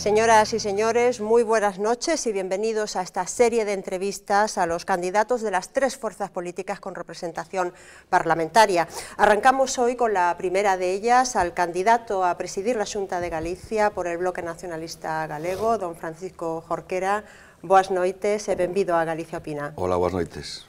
Señoras y señores, muy buenas noches y bienvenidos a esta serie de entrevistas a los candidatos de las tres fuerzas políticas con representación parlamentaria. Arrancamos hoy con la primera de ellas, al candidato a presidir la Xunta de Galicia por el Bloque Nacionalista Galego, don Francisco Jorquera. Boas noites e benvido a Galicia Opina. Hola, boas noites.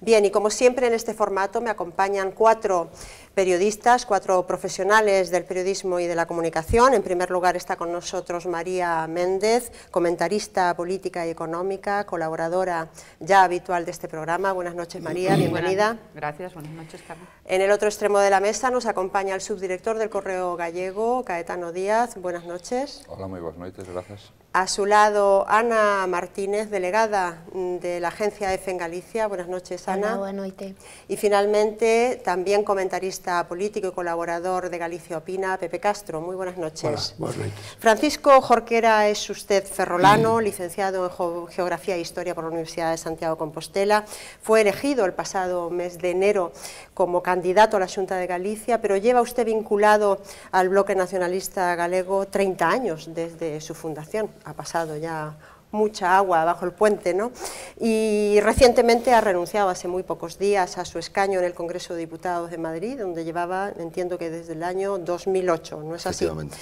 Bien, y como siempre en este formato me acompañan cuatro periodistas, cuatro profesionales del periodismo y de la comunicación. En primer lugar está con nosotros María Méndez, comentarista política y económica, colaboradora ya habitual de este programa. Buenas noches, María, bienvenida. Gracias, buenas noches, Carmen. En el otro extremo de la mesa nos acompaña el subdirector del Correo Gallego, Caetano Díaz. Buenas noches. Hola, muy buenas noches, gracias. A su lado, Ana Martínez, delegada de la agencia EFE en Galicia. Buenas noches, Ana. Hola, buenas noches. Y finalmente, también comentarista político y colaborador de Galicia Opina, Pepe Castro. Muy buenas noches. Hola, buenas noches. Francisco Jorquera es usted ferrolano, licenciado en Geografía e Historia por la Universidad de Santiago de Compostela. Fue elegido el pasado mes de enero como candidato a la Xunta de Galicia, pero lleva usted vinculado al Bloque Nacionalista Galego 30 años desde su fundación. Ha pasado ya mucha agua bajo el puente, ¿no? Y recientemente ha renunciado hace muy pocos días a su escaño en el Congreso de Diputados de Madrid, donde llevaba, entiendo que desde el año 2008, ¿no es así? Efectivamente.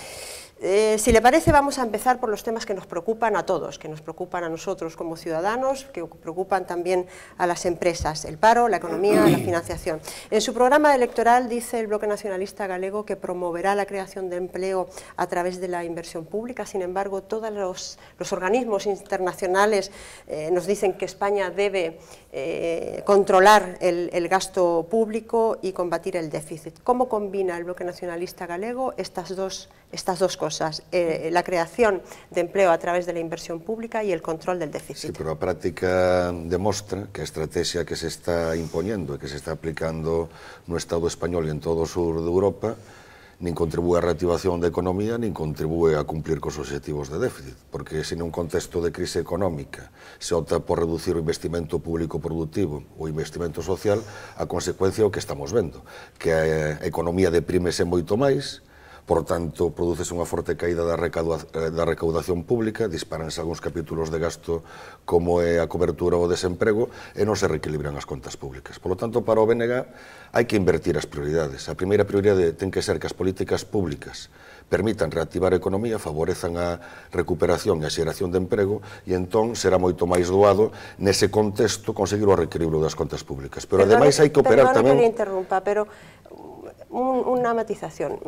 Si le parece, vamos a empezar por los temas que nos preocupan a todos, que nos preocupan a nosotros como ciudadanos, que preocupan también a las empresas, el paro, la economía, la financiación. En su programa electoral dice el Bloque Nacionalista Galego que promoverá la creación de empleo a través de la inversión pública. Sin embargo, todos los organismos internacionales nos dicen que España debe controlar el gasto público y combatir el déficit. ¿Cómo combina el Bloque Nacionalista Galego estas dos cosas? La creación de empleo a través de la inversión pública y el control del déficit. Sí, pero a práctica demostra que a estrategia que se está imponiendo e que se está aplicando no Estado español e en todo o sur de Europa nin contribúe á reactivación da economía, nin contribúe a cumplir cos obxectivos de déficit, porque se nun contexto de crise económica se opta por reducir o investimento público productivo ou investimento social, a consecuencia é o que estamos vendo, que a economía deprímese moito máis. Por tanto, prodúcese unha forte caída da recaudación pública, disparanse algúns capítulos de gasto como é a cobertura ao desemprego e non se reequilibran as contas públicas. Por lo tanto, para o BNG hai que invertir as prioridades. A primeira prioridade ten que ser que as políticas públicas permitan reactivar a economía, favorezan a recuperación e a xeración de emprego e entón será moito máis doado nese contexto conseguir o reequilibrio das contas públicas. Pero ademais hai que operar tamén... Perdone que le interrumpa, pero una matización.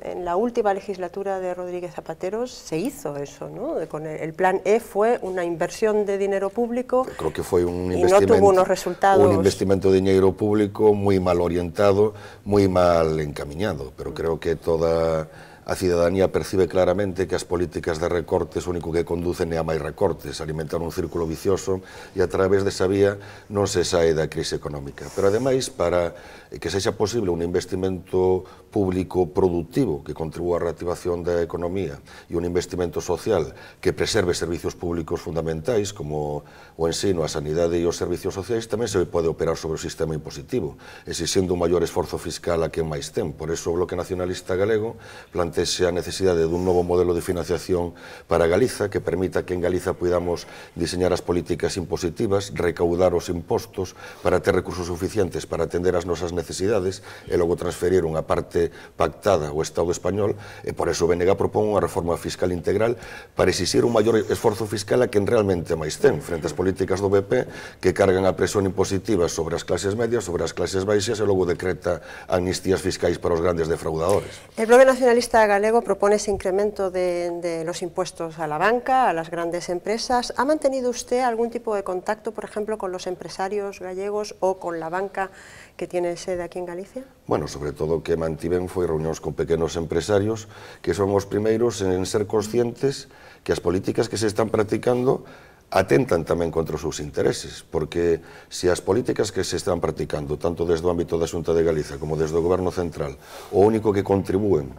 En la última legislatura de Rodríguez Zapatero se hizo eso, ¿no? Con el plan E fue una inversión de dinero público. Creo que foi un y no tuvo unos resultados. Un investimento de dinero público moi mal orientado, moi mal encaminado, pero creo que toda a cidadanía percibe claramente que as políticas de recortes o único que conducen é a máis recortes, alimentar un círculo vicioso e a través desa vía non se sae da crise económica. Pero ademais, para que sexa posible un investimento público productivo que contribúa á reactivación da economía e un investimento social que preserve servicios públicos fundamentais como o ensino, a sanidade e os servicios sociais, tamén se pode operar sobre o sistema impositivo, exixindo un maior esforzo fiscal a quen máis ten. Por eso o Bloque Nacionalista Galego plantexe a necesidade dun novo modelo de financiación para Galiza que permita que en Galiza podamos diseñar as políticas impositivas, recaudar os impostos para ter recursos suficientes para atender as nosas necesidades e logo transferir unha parte pactada ao Estado español e por eso o BNG propón unha reforma fiscal integral para exixir un maior esforzo fiscal a quen realmente máis ten frente ás políticas do BP que cargan a presión impositiva sobre as clases medias, sobre as clases baixas e logo decreta amnistías fiscais para os grandes defraudadores. El Bloque Nacionalista Galego propone ese incremento de los impuestos a la banca, a las grandes empresas. ¿Ha mantenido usted algún tipo de contacto, por ejemplo, con los empresarios gallegos o con la banca que tiene sede aquí en Galicia? Bueno, sobre todo que mantiven foi reunións con pequenos empresarios que son os primeiros en ser conscientes que as políticas que se están practicando atentan tamén contra os seus intereses, porque se as políticas que se están practicando, tanto desde o ámbito da Xunta de Galiza como desde o Goberno Central, o único que contribúen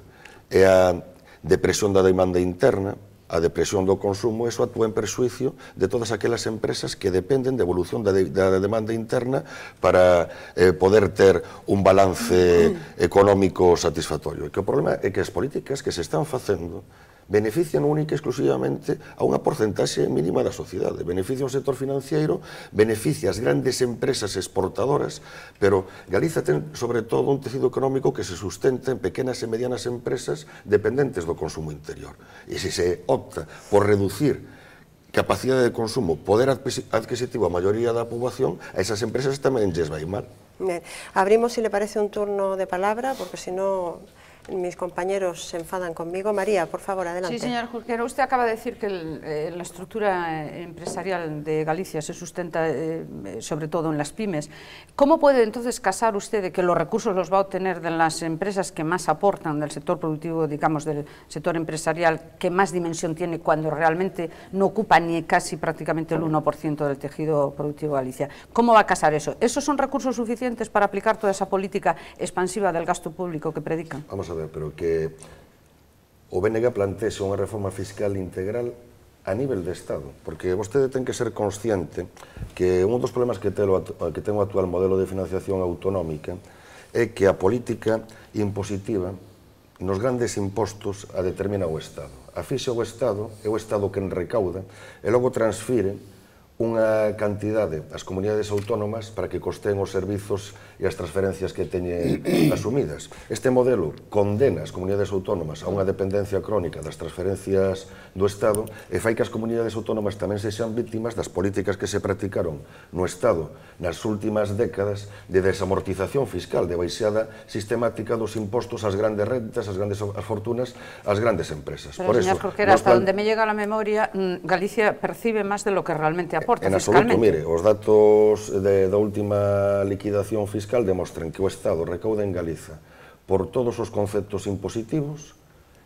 é a depresión da demanda interna, a depresión do consumo, eso actúa en perxuicio de todas aquelas empresas que dependen de evolución da demanda interna para poder ter un balance económico satisfactorio. E que o problema é que as políticas que se están facendo benefician única e exclusivamente a unha porcentaxe mínima da sociedade. Beneficia o sector financiero, beneficia as grandes empresas exportadoras, pero Galiza ten, sobre todo, un tecido económico que se sustenta en pequenas e medianas empresas dependentes do consumo interior. E se se opta por reducir capacidade de consumo, poder adquisitivo a maioría da poboación, a esas empresas tamén lles vai mal. Bien. Abrimos, si le parece, un turno de palabra, porque si no mis compañeros se enfadan conmigo. María, por favor, adelante. Sí, señor Jorquera, usted acaba de decir que la estructura empresarial de Galicia se sustenta sobre todo en las pymes. ¿Cómo puede entonces casar usted de que los recursos los va a obtener de las empresas que más aportan del sector productivo, digamos, del sector empresarial, que más dimensión tiene cuando realmente no ocupa ni casi prácticamente el 1% del tejido productivo de Galicia? ¿Cómo va a casar eso? ¿Esos son recursos suficientes para aplicar toda esa política expansiva del gasto público que predican? Vamos a ver, pero que o BNG plantexe unha reforma fiscal integral a nivel de Estado, porque vostede ten que ser consciente que un dos problemas que ten o actual modelo de financiación autonómica é que a política impositiva nos grandes impostos a determina o Estado. Afixa o Estado, é o Estado quen recauda e logo transfire unha cantidade ás comunidades autónomas para que costeen os servizos e as transferencias que teñen asumidas. Este modelo condena as comunidades autónomas a unha dependencia crónica das transferencias do Estado e fai que as comunidades autónomas tamén sexan vítimas das políticas que se practicaron no Estado nas últimas décadas de desamortización fiscal, de baixada sistemática dos impostos ás grandes rentas, ás grandes fortunas, ás grandes empresas. Pero, señor Jorquera, hasta donde me llega la memoria, Galicia percibe máis de lo que realmente aporta fiscalmente. En absoluto, mire, os datos da última liquidación fiscal demostran que o Estado recauda en Galiza por todos os conceptos impositivos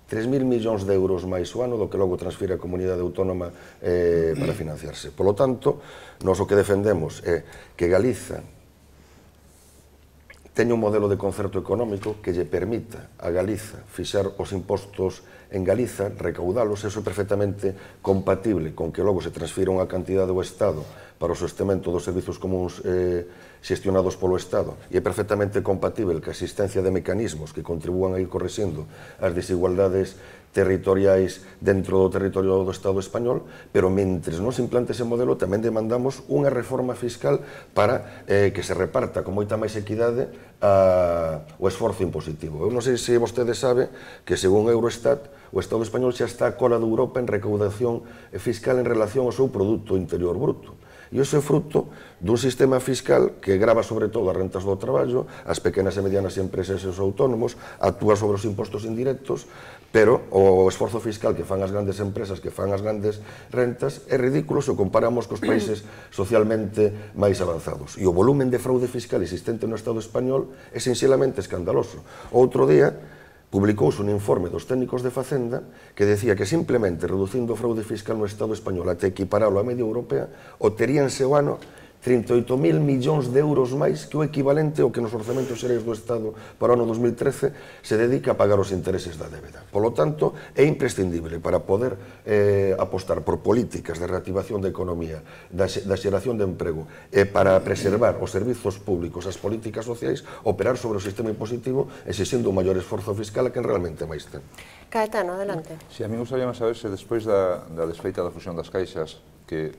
3.000 millóns de euros máis o ano do que logo transfire a comunidade autónoma para financiarse. Por lo tanto, nós o que defendemos é que Galiza teña un modelo de concerto económico que lle permita a Galiza fixar os impostos en Galiza, recaudalos, eso é perfectamente compatible con que logo se transfira unha cantidade do Estado para o sostemento dos servizos comuns xestionados polo Estado, e é perfectamente compatible que a existencia de mecanismos que contribúan a ir correxendo as desigualdades territoriais dentro do territorio do Estado español, pero mentres non se implante ese modelo tamén demandamos unha reforma fiscal para que se reparta con moita máis equidade o esforzo impositivo. Eu non sei se vostede sabe que según Eurostat o Estado español xa está a cola de Europa en recaudación fiscal en relación ao seu Produto Interior Bruto. E iso é fruto dun sistema fiscal que grava sobre todo as rentas do traballo, as pequenas e medianas empresas e os autónomos, actúa sobre os impostos indirectos, pero o esforzo fiscal que fan as grandes empresas, que fan as grandes rentas, é ridículo se o comparamos cos países socialmente máis avanzados. E o volumen de fraude fiscal existente no Estado español é sinxelamente escandaloso. Outro día publicouse un informe dos técnicos de Facenda que decía que simplemente reducindo o fraude fiscal no Estado español até equiparalo á media europea, obteríanse o ano 38.000 millóns de euros máis que o equivalente ao que nos orzamentos xerais do Estado para o ano 2013 se dedica a pagar os intereses da débeda. Polo tanto, é imprescindible para poder apostar por políticas de reactivación da economía, da xeración de emprego e para preservar os servizos públicos, as políticas sociais, operar sobre o sistema impositivo exixindo un maior esforzo fiscal a quen realmente máis ten. Caetano, adelante. Si, a mí gustaría saber se despois da desfeita da fusión das caixas que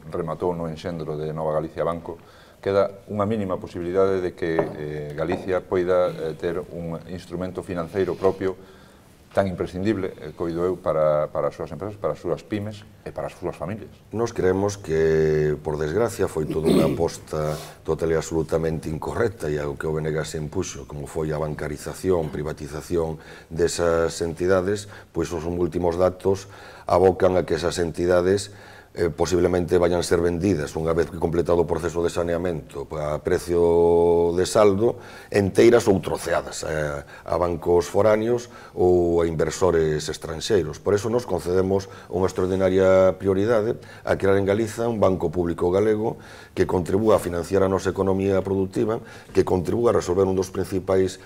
rematou no enxendro de Nova Galicia Banco, queda unha mínima posibilidade de que Galicia poida ter un instrumento financeiro propio tan imprescindible, coido eu, para as súas empresas, para as súas pymes e para as súas familias. Nos creemos que, por desgracia, foi toda unha aposta total e absolutamente incorrecta e ao que o BNG se impuxo, como foi a bancarización, privatización desas entidades, pois os últimos datos abocan a que esas entidades posiblemente vayan ser vendidas unha vez que completado o proceso de saneamento a precio de saldo, enteiras ou troceadas a bancos foráneos ou a inversores estranxeiros. Por eso nos concedemos unha extraordinaria prioridade a crear en Galiza un banco público galego que contribúa a financiar a nosa economía productiva, que contribúa a resolver un dos principais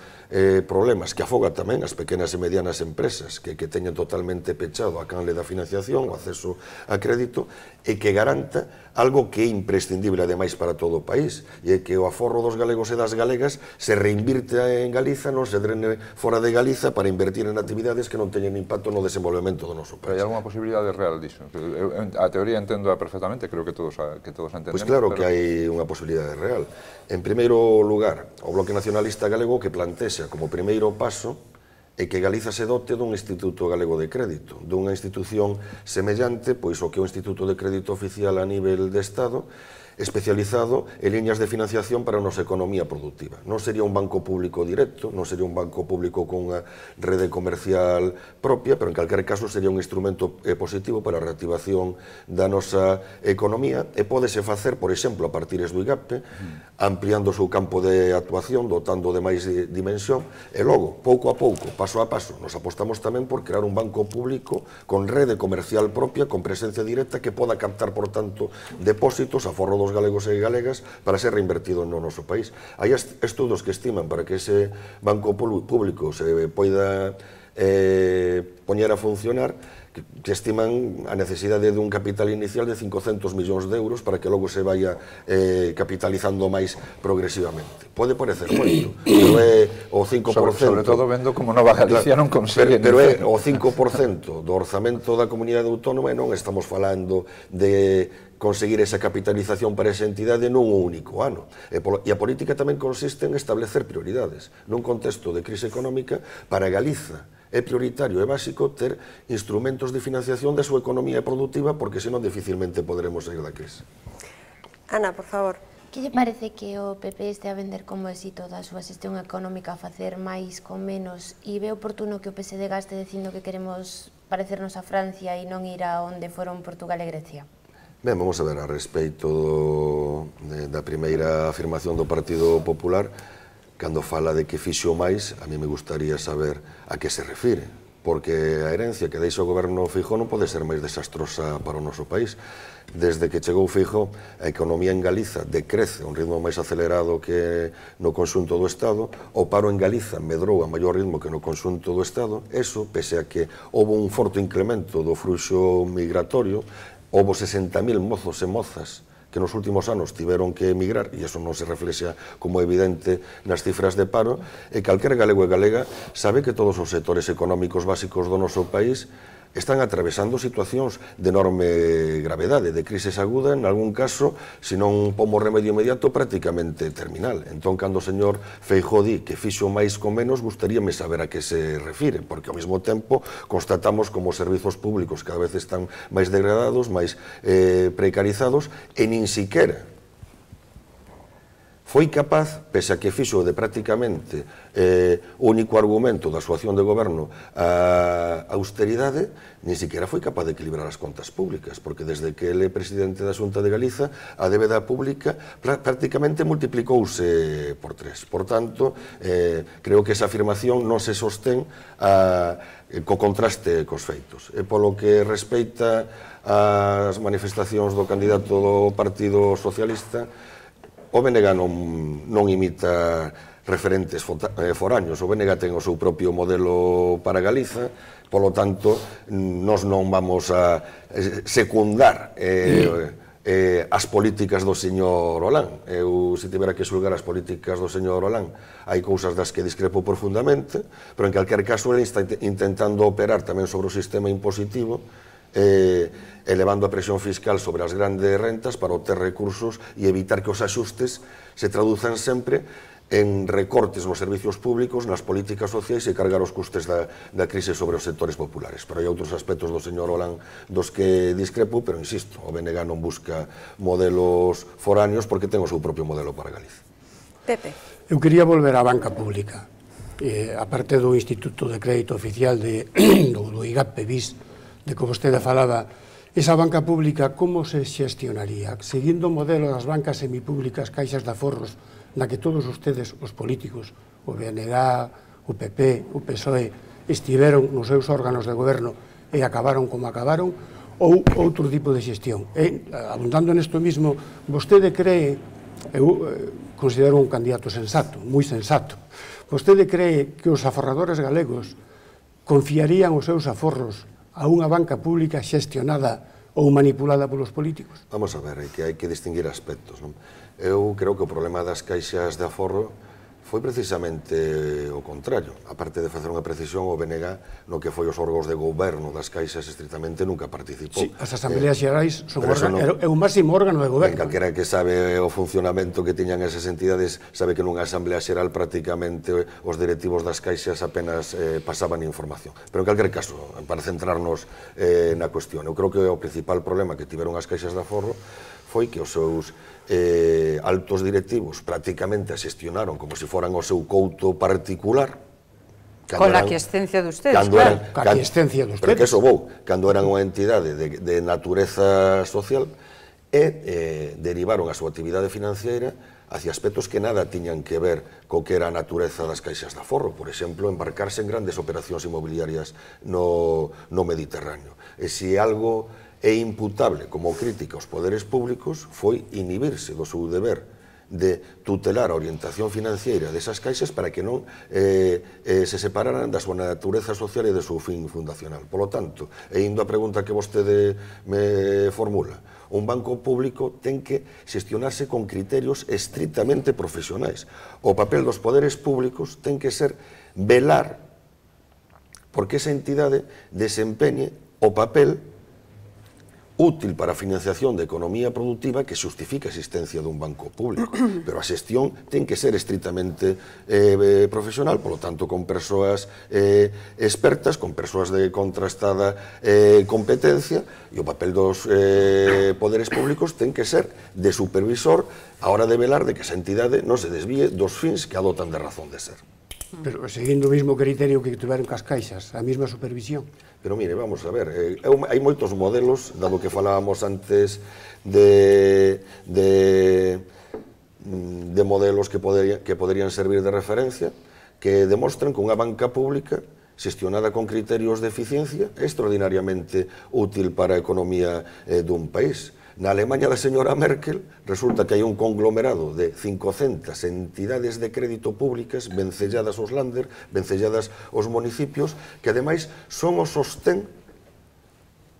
problemas que afoga tamén as pequenas e medianas empresas que teñen totalmente pechado a canle da financiación, o acceso a crédito, e que garanta algo que é imprescindible ademais para todo o país, e é que o aforro dos galegos e das galegas se reinvirte en Galiza, non se drene fora de Galiza para invertir en actividades que non teñen impacto no desenvolvemento do noso país. Pero hai alguna posibilidade real disso? A teoría entendo perfectamente, creo que todos entendemos. Pois claro que hai unha posibilidade real. En primeiro lugar, o Bloque Nacionalista Galego que plantexa como primeiro paso é que Galiza se dote dun Instituto Galego de Crédito, dunha institución semellante pois o que é o Instituto de Crédito Oficial a nivel de Estado, especializado en liñas de financiación para a nosa economía productiva. Non sería un banco público directo, non sería un banco público con unha rede comercial propia, pero en calquer caso sería un instrumento positivo para a reactivación da nosa economía e pódese facer, por exemplo, a partir do IGAPE, ampliando o seu campo de actuación, dotando de máis dimensión, e logo, pouco a pouco, paso a paso, nos apostamos tamén por crear un banco público con rede comercial propia, con presencia directa, que poda captar, por tanto, depósitos, aforro dos galegos e galegas para ser reinvertido no noso país. Hai estudos que estiman para que ese banco público se poida poñer a funcionar, que estiman a necesidade dun capital inicial de 500 millóns de euros para que logo se vaya capitalizando máis progresivamente. Pode parecer moito, pero é o 5%... Sobre todo vendo como Nova Galicia non consigue... Pero é o 5% do orzamento da comunidade autónoma e non estamos falando de conseguir esa capitalización para esa entidade nun único ano. E a política tamén consiste en establecer prioridades. Nun contexto de crise económica, para Galiza é prioritario e básico ter instrumentos de financiación da súa economía productiva, porque senón dificilmente poderemos sair da crise. Ana, por favor. Que lle parece que o PP este a vender como éxito da súa xestión económica a facer máis con menos, e ve oportuno que o PSD gaste dicindo que queremos parecernos a Francia e non ir a onde foron Portugal e Grecia? Ben, vamos a ver, a respeito da primeira afirmación do Partido Popular, cando fala de que fixo máis, a mí me gustaría saber a que se refire, porque a herencia que deixa o goberno Feijóo non pode ser máis desastrosa para o noso país. Desde que chegou Feijóo, a economía en Galiza decrece a un ritmo máis acelerado que no conxunto do Estado, o paro en Galiza medrou a maior ritmo que no conxunto do Estado, eso, pese a que houve un forte incremento do fluxo migratorio, houve 60.000 mozos e mozas que nos últimos anos tiveron que emigrar, e iso non se reflexa como evidente nas cifras de paro, e calquer galego e galega sabe que todos os sectores económicos básicos do noso país están atravesando situacións de enorme gravedade, de crisis aguda, en algún caso, se non pomos remedio inmediato, prácticamente terminal. Entón, cando o señor Feijóo di que fixo máis con menos, gustaríame saber a que se refire, porque ao mesmo tempo constatamos como os servizos públicos cada vez están máis degradados, máis precarizados, e nin siquera foi capaz, pese a que fixo de prácticamente o único argumento da súa acción de goberno a austeridade, nin siquiera foi capaz de equilibrar as contas públicas, porque desde que ele é presidente da Xunta de Galiza, a débeda pública prácticamente multiplicouse por 3. Por tanto, creo que esa afirmación non se sostén co contraste cos feitos. E polo que respeita ás manifestacións do candidato do Partido Socialista, o BNG non imita referentes foraños, o BNG ten o seu propio modelo para Galiza, polo tanto, nós non vamos a secundar as políticas do señor Hollande. Eu, se tivera que xulgar as políticas do señor Hollande, hai cousas das que discrepo profundamente, pero en calquer caso ele está intentando operar tamén sobre o sistema impositivo, elevando a presión fiscal sobre as grandes rentas para obter recursos e evitar que os axustes se traduzan sempre en recortes nos servicios públicos, nas políticas sociais e cargar os custes da crise sobre os sectores populares. Pero hai outros aspectos do señor Hollande dos que discrepo, pero insisto, o BNG non busca modelos foráneos porque ten o seu propio modelo para Galicia. Pepe. Eu quería volver á banca pública. A parte do Instituto de Crédito Oficial do IGAPE BIS, de que vostede falaba, esa banca pública como se xestionaría? Seguindo o modelo das bancas semipúblicas, caixas de aforros, na que todos ustedes, os políticos, o BNG, o PP, o PSOE, estiveron nos seus órganos de goberno e acabaron como acabaron, ou outro tipo de xestión? Abundando nesto mismo, vostede cree, eu considero un candidato sensato, moi sensato, vostede cree que os aforradores galegos confiarían os seus aforros a unha banca pública xestionada ou manipulada polos políticos? Vamos a ver, que hai que distinguir aspectos. Eu creo que o problema das caixas de aforro foi precisamente o contrario. Aparte de facer unha precisión, o BNG, no que foi os órgãos de goberno das caixas, estritamente nunca participou. Sí, as asambleas xerais é o máximo órgano de goberno. Calquera que sabe o funcionamento que tiñan esas entidades sabe que nunha asamblea xeral prácticamente os directivos das caixas apenas pasaban información. Pero en calquer caso, para centrarnos na cuestión, eu creo que o principal problema que tiveron as caixas de aforro foi que os seus altos directivos prácticamente a xestionaron como se foran o seu couto particular. Con la aquiescencia de ustedes, claro. Con la aquiescencia de ustedes. Pero que eso vou, cando eran unha entidade de natureza social e derivaron a súa actividade financiera hacia aspectos que nada tiñan que ver co que era a natureza das caixas de aforro. Por exemplo, embarcarse en grandes operacións inmobiliarias no Mediterráneo. E se algo é imputable como crítica aos poderes públicos foi inhibirse do seu deber de tutelar a orientación financiera desas caixas para que non se separaran da súa natureza social e do seu fin fundacional. Por lo tanto, e indo a pregunta que vostede me formula, un banco público ten que xestionarse con criterios estritamente profesionais. O papel dos poderes públicos ten que ser velar porque esa entidade desempeñe o papel útil para a financiación de economía productiva que justifica a existencia dun banco público. Pero a xestión ten que ser estritamente profesional, polo tanto, con persoas expertas, con persoas de contrastada competencia, e o papel dos poderes públicos ten que ser de supervisor a hora de velar de que esa entidade non se desvíe dos fins que adotan de razón de ser. Pero seguindo o mesmo criterio que tiveron cas caixas, a mesma supervisión. Pero mire, vamos a ver, hai moitos modelos, dado que falábamos antes de modelos que poderían servir de referencia, que demostran que unha banca pública xestionada con criterios de eficiencia é extraordinariamente útil para a economía dun país. Na Alemanha da señora Merkel resulta que hai un conglomerado de 500 entidades de crédito públicas vencelladas aos Länder, vencelladas aos municipios, que ademais son o sostén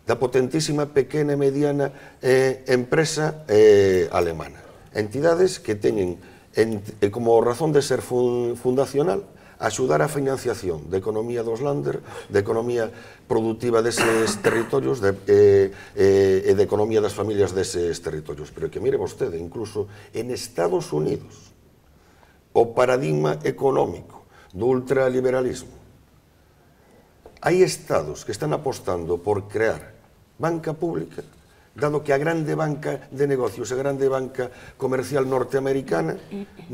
da potentísima pequena e mediana empresa alemana. Entidades que teñen como razón de ser fundacional axudar a financiación da economía dos Länder, da economía productiva deses territorios e da economía das familias deses territorios. Pero que mire vostede, incluso en Estados Unidos, o paradigma económico do ultraliberalismo, hai estados que están apostando por crear banca pública, dado que a grande banca de negocios, a grande banca comercial norteamericana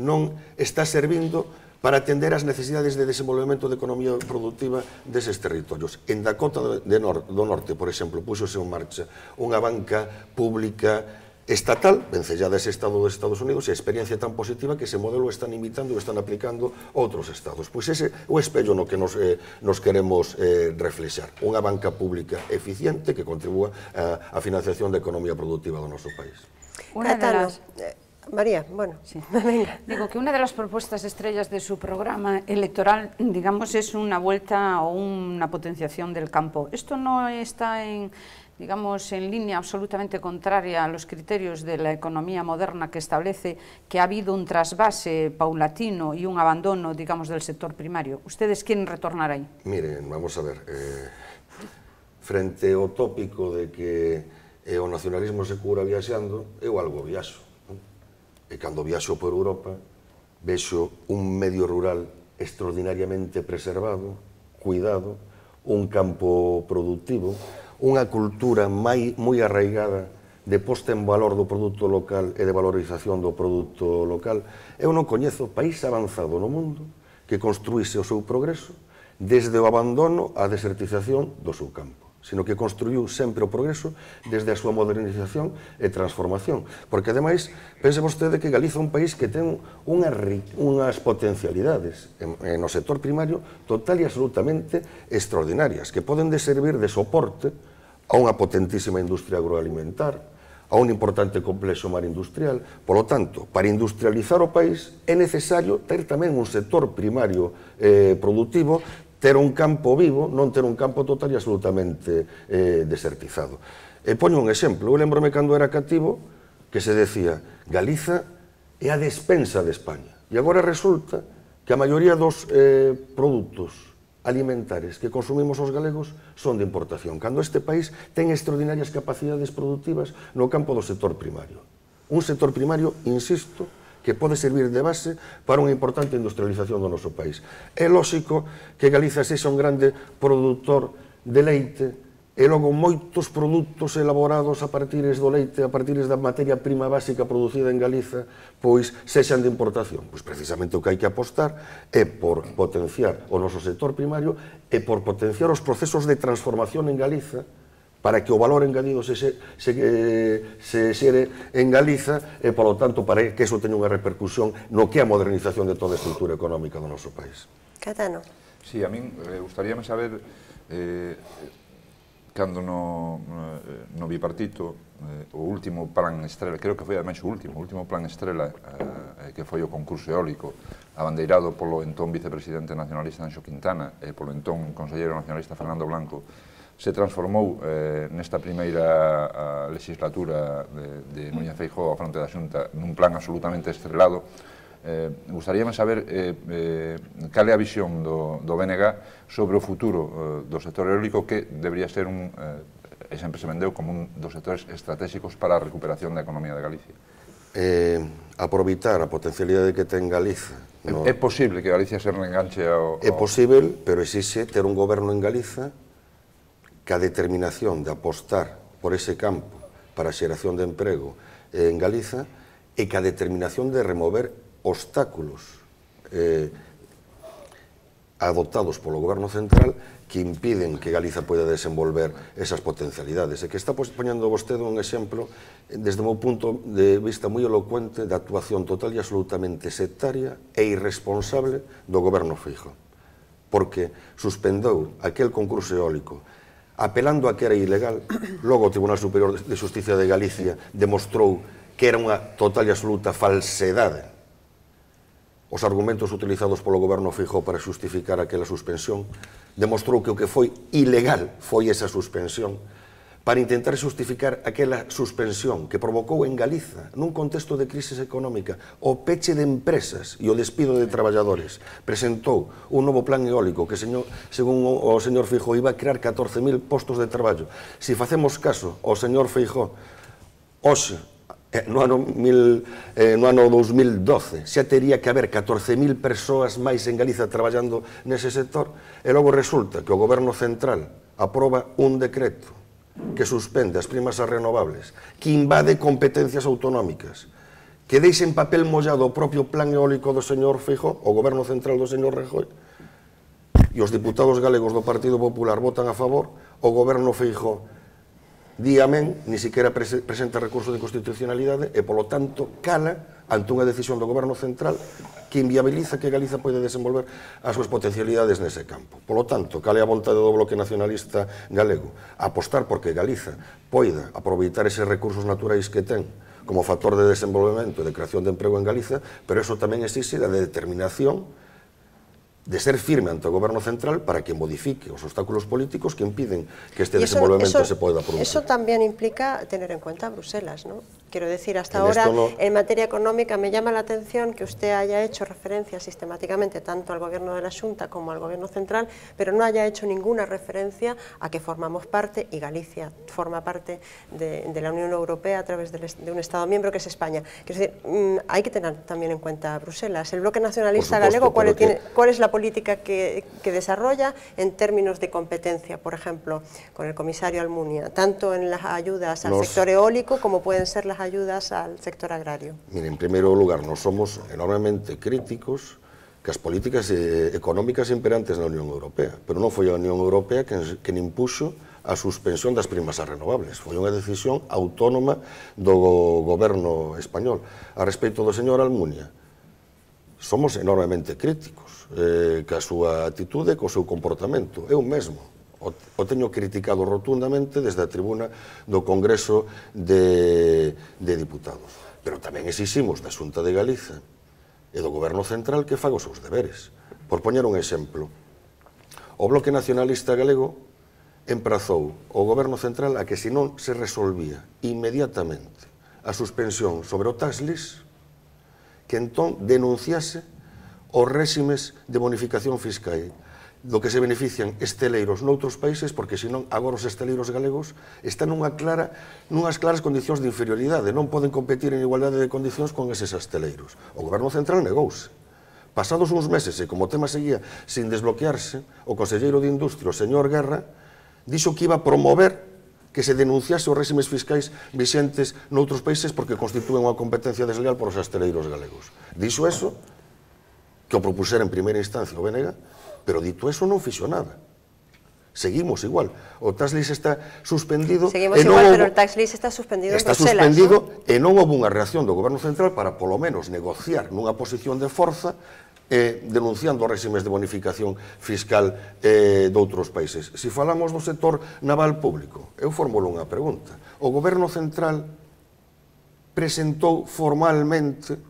non está servindo para atender as necesidades de desenvolvemento de economía productiva deses territorios. En Dakota do Norte, por exemplo, puxose en marcha unha banca pública estatal, vencellada ese estado dos Estados Unidos, e a experiencia tan positiva que ese modelo están imitando e están aplicando outros estados. Pois ese é o espello no que nos queremos reflexar. Unha banca pública eficiente que contribúa á financiación da economía productiva do noso país. María, bueno, sí. Venga. Digo que una de las propuestas estrellas de su programa electoral, digamos, es una vuelta o una potenciación del campo. Esto no está en línea absolutamente contraria a los criterios de la economía moderna que establece que ha habido un trasvase paulatino y un abandono, digamos, del sector primario. ¿Ustedes quieren retornar ahí? Miren, vamos a ver, frente ao tópico de que o nacionalismo se cura viaxando, eu algo viaxo. E cando viaxo por Europa, vexo un medio rural extraordinariamente preservado, cuidado, un campo productivo, unha cultura moi arraigada de posta en valor do produto local e de valorización do produto local. Eu non coñezo país avanzado no mundo que construíse o seu progreso desde o abandono á desertización do seu campo, sino que construiu sempre o progreso desde a súa modernización e transformación. Porque, ademais, pense vostede que Galiza é un país que ten unhas potencialidades no sector primario total e absolutamente extraordinarias, que poden servir de soporte a unha potentísima industria agroalimentar, a un importante complexo mar industrial. Por lo tanto, para industrializar o país é necesario ter tamén un sector primario productivo, ter un campo vivo, non ter un campo total e absolutamente desertizado. E poño un exemplo, eu lembrome cando era cativo que se decía Galiza é a despensa de España. E agora resulta que a maioría dos produtos alimentares que consumimos os galegos son de importación, cando este país ten extraordinarias capacidades productivas no campo do sector primario. Un sector primario, insisto, que pode servir de base para unha importante industrialización do noso país. É lógico que Galiza sexa un grande produtor de leite e logo moitos produtos elaborados a partires do leite, a partires da materia prima básica producida en Galiza, pois sexan de importación. Pois precisamente o que hai que apostar é por potenciar o noso sector primario e por potenciar os procesos de transformación en Galiza para que o valor engadido se xere en Galiza e, polo tanto, para que eso teña unha repercusión no que é a modernización de toda a estrutura económica do noso país. Catano. Sí, a min gustaríame saber cando no bipartito o último plan estrela, creo que foi ademais o último plan estrela que foi o concurso eólico abandeirado polo entón vicepresidente nacionalista Anxo Quintana e polo entón conselleiro nacionalista Fernando Blanco, se transformou nesta primeira legislatura de Núñez Feijóo á fronte da Xunta nun plan absolutamente estrelado. Gustaríame saber cal é a visión do BNG sobre o futuro do sector eólico, que debería ser e sempre se vendeu como un dos sectores estratégicos para a recuperación da economía de Galicia. Aproveitar a potencialidade que ten Galiza. É posible que Galicia se reenganche ao... É posible, pero exixe ter un goberno en Galiza que a determinación de apostar por ese campo para a xeración de emprego en Galiza e que a determinación de remover obstáculos adoptados polo goberno central que impiden que Galiza poida desenvolver esas potencialidades. E que está poñendo vostede un exemplo, desde o meu punto de vista moi elocuente, da actuación total e absolutamente sectaria e irresponsable do goberno Feijóo, porque suspendeu aquel concurso eólico apelando a que era ilegal. Logo o Tribunal Superior de Xusticia de Galicia demostrou que era unha total e absoluta falsedade os argumentos utilizados polo goberno Feijóo para justificar aquela suspensión. Demostrou que o que foi ilegal foi esa suspensión, para intentar justificar aquela suspensión que provocou en Galiza, nun contexto de crisis económica, o peche de empresas e o despido de traballadores. Presentou un novo plan eólico que, según o señor Feijóo, iba a crear 14.000 postos de traballo. Se facemos caso ao señor Feijóo, hoxe, no ano 2012 xa tería que haber 14.000 persoas máis en Galiza traballando nese sector, e logo resulta que o goberno central aproba un decreto que suspende as primas ás renovables, que invade competencias autonómicas, que deixa en papel mollado o propio plan eólico do señor Feijóo, o goberno central do señor Rajoy, e os diputados galegos do Partido Popular votan a favor, o goberno Feijóo di amén, ni siquiera presenta recurso de constitucionalidade e, polo tanto, cala ante unha decisión do goberno central que inviabiliza que Galiza poida desenvolver as súas potencialidades nese campo. Polo tanto, cal é a vontade do Bloque Nacionalista galego? Apostar porque Galiza poida aproveitar eses recursos naturais que ten como factor de desenvolvemento e de creación de emprego en Galiza, pero eso tamén exige a determinación de ser firme ante o goberno central para que modifique os obstáculos políticos que impiden que este desenvolvemento se poida producir. Eso también implica tener en cuenta a Bruselas, ¿no? Quiero decir, hasta ahora, en materia económica, me llama la atención que usted haya hecho referencia sistemáticamente tanto al gobierno de la Xunta como al gobierno central, pero no haya hecho ninguna referencia a que formamos parte, y Galicia forma parte de la Unión Europea a través de un Estado miembro que es España. Quiero decir, hay que tener también en cuenta a Bruselas. El Bloque Nacionalista galego, ¿cuál es la política que desarrolla en términos de competencia, por ejemplo, con el comisario Almunia, tanto en las ayudas al sector eólico como pueden ser las ayudas al sector agrario? Mire, en primeiro lugar, nos somos enormemente críticos que as políticas económicas imperantes na Unión Europea, pero non foi a Unión Europea que impuxo a suspensión das primas ás renovables. Foi unha decisión autónoma do goberno español. A respecto do señor Almunia, somos enormemente críticos ca súa atitude, co seu comportamento. Eu mesmo o teño criticado rotundamente desde a tribuna do Congreso de Diputados. Pero tamén exiximos da Xunta de Galiza e do Goberno Central que faga os seus deberes. Por poñer un exemplo, o Bloque Nacionalista Galego emprazou o Goberno Central a que se non se resolvía inmediatamente a suspensión sobre o tax list, que entón denunciase os réximes de bonificación fiscal do que se benefician esteleiros noutros países, porque senón agora os esteleiros galegos están nunhas claras condicións de inferioridade, non poden competir en igualdade de condicións con eses esteleiros. O Goberno Central negouse. Pasados uns meses, e como o tema seguía sin desbloquearse, o conselleiro de Industria, o señor Guerra, dixo que iba a promover que se denunciase os réximes fiscais vixentes noutros países porque constitúen unha competencia desleal por os esteleiros galegos. Dixo eso, que o propusera en primeira instancia o BNG, pero dito eso non fixo nada. Seguimos igual. O tax list está suspendido. Seguimos igual, pero o tax list está suspendido en Bruselas. Está suspendido e non houve unha reacción do Goberno Central para, polo menos, negociar nunha posición de forza denunciando os réximes de bonificación fiscal de outros países. Se falamos do sector naval público, eu formulo unha pregunta. O Goberno Central presentou formalmente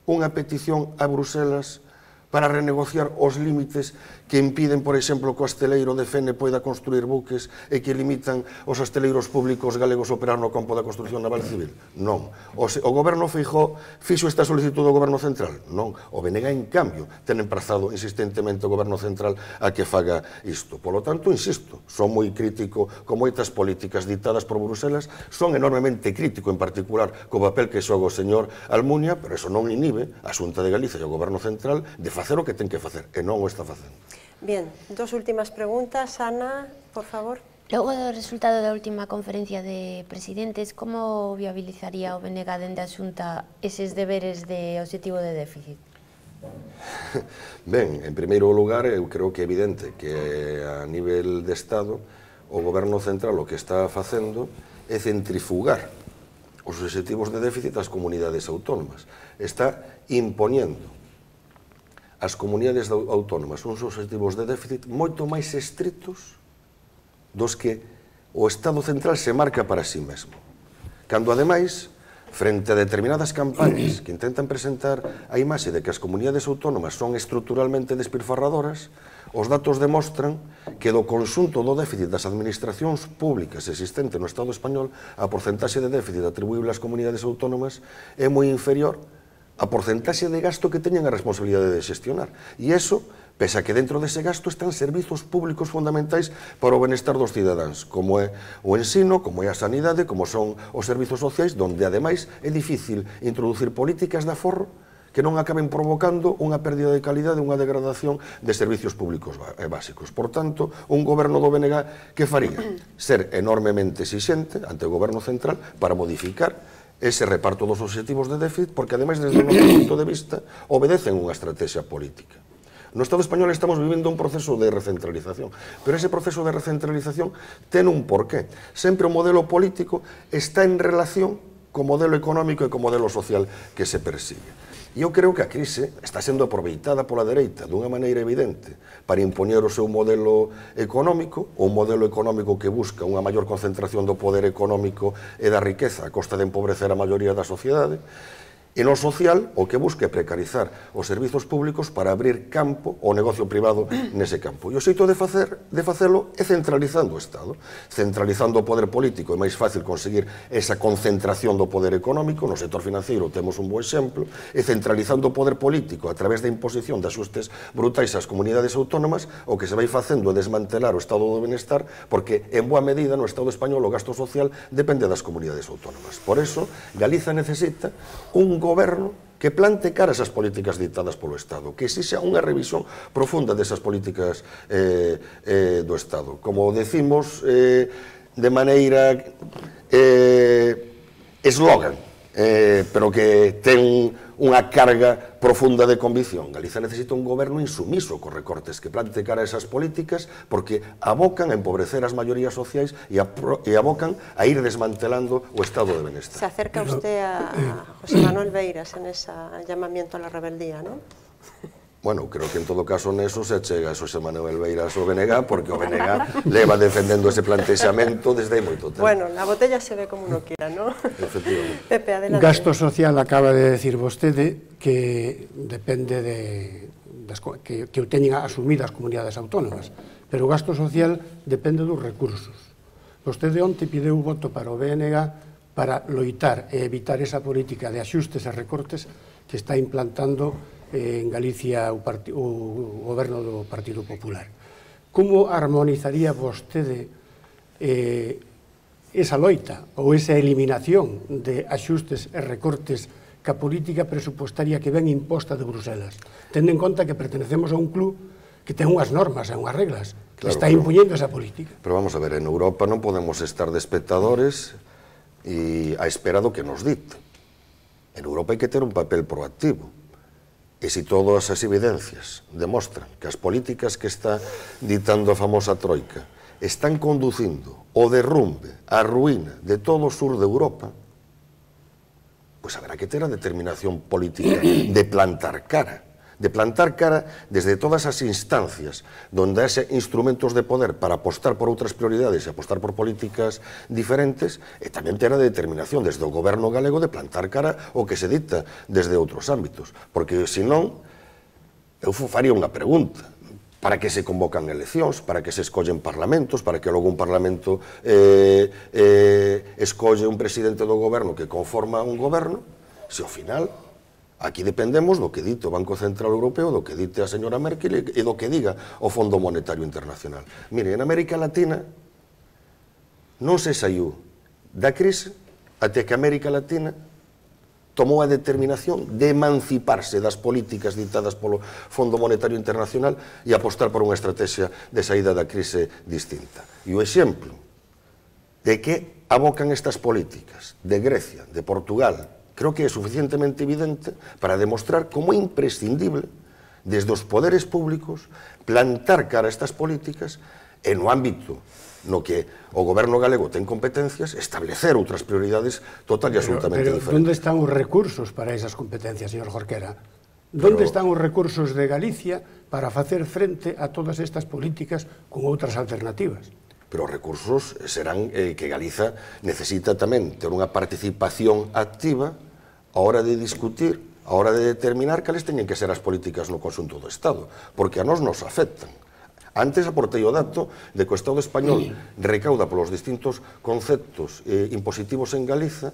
unha petición a Bruselas para renegociar os límites que impiden, por exemplo, que o asteleiro de Fene poida construir buques e que limitan os asteleiros públicos galegos operar no campo da construcción naval civil? Non. O Goberno Feijóo fixo esta solicitud do Goberno Central? Non. O BNG, en cambio, ten emprazado insistentemente o Goberno Central a que faga isto. Polo tanto, insisto, son moi crítico con moitas políticas dictadas por Bruselas, son enormemente crítico, en particular, co papel que xoga o señor Almunia, pero eso non inhibe a Xunta de Galicia e o Goberno Central de facer o que ten que facer, e non o está facendo. Bien, dos últimas preguntas. Ana, por favor. Logo do resultado da última conferencia de presidentes, como viabilizaría o BNG dende a Xunta eses deberes de obxectivo de déficit? Ben, en primeiro lugar, eu creo que é evidente que a nivel de Estado o Goberno Central o que está facendo é centrifugar os obxectivos de déficit ás comunidades autónomas. Está imponiendo as comunidades autónomas uns obxectivos de déficit moito máis estritos dos que o Estado Central se marca para sí mesmo. Cando, ademais, frente a determinadas campañas que intentan presentar a imaxe de que as comunidades autónomas son estruturalmente despilfarradoras, os datos demostran que do conxunto do déficit das administracións públicas existente no Estado español, a porcentaxe de déficit atribuíble ás comunidades autónomas é moi inferior a porcentaxe de gasto que teñen a responsabilidade de xestionar. E iso, pese a que dentro dese gasto están servizos públicos fundamentais para o benestar dos cidadáns, como é o ensino, como é a sanidade, como son os servizos sociais, donde, ademais, é difícil introducir políticas de aforro que non acaben provocando unha pérdida de calidade, unha degradación de servicios públicos básicos. Por tanto, un goberno do BNG que faría? Ser enormemente exixente ante o goberno central para modificar ese reparto dos obxectivos de déficit, porque, ademais, desde o noso punto de vista, obedecen unha estrategia política. No Estado español estamos vivindo un proceso de recentralización, pero ese proceso de recentralización ten un porqué. Sempre o modelo político está en relación co modelo económico e co modelo social que se persigue. E eu creo que a crise está sendo aproveitada pola dereita dunha maneira evidente para impoñer o seu modelo económico, un modelo económico que busca unha maior concentración do poder económico e da riqueza a costa de empobrecer a maioría da sociedade, e no social o que busca é precarizar os servizos públicos para abrir campo ao negocio privado nese campo. E o xeito de facelo é centralizando o Estado. Centralizando o poder político é máis fácil conseguir esa concentración do poder económico, no sector financiero temos un bo exemplo, e centralizando o poder político a través da imposición de axustes brutais ás comunidades autónomas, o que se vai facendo é desmantelar o estado do benestar, porque en boa medida no Estado español o gasto social depende das comunidades autónomas. Por eso, Galiza necesita un goberno que plante cara a esas políticas dictadas polo Estado, que exixa unha revisión profunda desas políticas do Estado. Como decimos de maneira eslogan, pero que ten unha carga profunda de convicción. Galiza necesita un goberno insumiso cos recortes, que plante cara a esas políticas, porque abocan a empobrecer as maiorías sociais e abocan a ir desmantelando o estado de benestar. Se acerca usted a José Manuel Beiras en ese llamamiento a la rebeldía, ¿no? Bueno, creo que en todo caso neso se chega a Xosé Manuel Beiras o BNG, porque o BNG leva defendendo ese plantexamento desde hai moito tempo. Bueno, la botella se ve como uno quiera, ¿no? Efectivamente. Pepe, adelante. Gasto social, acaba de decir vostede, que depende que o teñen asumidas as comunidades autónomas, pero o gasto social depende dos recursos. Vostede onte pideu voto para o BNG para loitar e evitar esa política de axustes e recortes que está implantando en Galicia o goberno do Partido Popular. Como armonizaría vostede esa loita ou esa eliminación de axustes e recortes ca política presupostaria que ven imposta de Bruselas, tendo en conta que pertenecemos a un club que ten unhas normas e unhas reglas, que está impuñendo esa política? Pero vamos a ver, en Europa non podemos estar de espectadores e a espera do que nos dite. En Europa hai que ter un papel proactivo. E se todas as evidencias demostran que as políticas que está ditando a famosa troika están conducindo o derrumbe, a ruína de todo o sur de Europa, pois haberá que ter a determinación política de plantar cara desde todas as instancias donde haxe instrumentos de poder para apostar por outras prioridades e apostar por políticas diferentes, e tamén ter a determinación desde o goberno galego de plantar cara o que se dicta desde outros ámbitos, porque senón eu faría unha pregunta: para que se convocan eleccións, para que se escollen parlamentos, para que logo un parlamento escolle un presidente do goberno que conforma un goberno, se ao final aquí dependemos do que dite o Banco Central Europeo, do que dite a señora Merkel e do que diga o Fondo Monetario Internacional. Mire, en América Latina non se saiu da crise até que América Latina tomou a determinación de emanciparse das políticas ditadas polo Fondo Monetario Internacional e apostar por unha estrategia de saída da crise distinta. E o exemplo de que abocan estas políticas de Grecia, de Portugal, creo que é suficientemente evidente para demostrar como é imprescindible desde os poderes públicos plantar cara a estas políticas e no ámbito no que o goberno galego ten competencias, establecer outras prioridades total e absolutamente diferentes. Pero onde están os recursos para esas competencias, señor Jorquera? Onde están os recursos de Galicia para facer frente a todas estas políticas con outras alternativas? Pero os recursos serán que Galiza necesita tamén ter unha participación activa a hora de discutir, a hora de determinar cales teñen que ser as políticas no conxunto do Estado, porque a nós nos afectan. Antes aportei o dato de que o Estado español recauda polos distintos conceptos impositivos en Galiza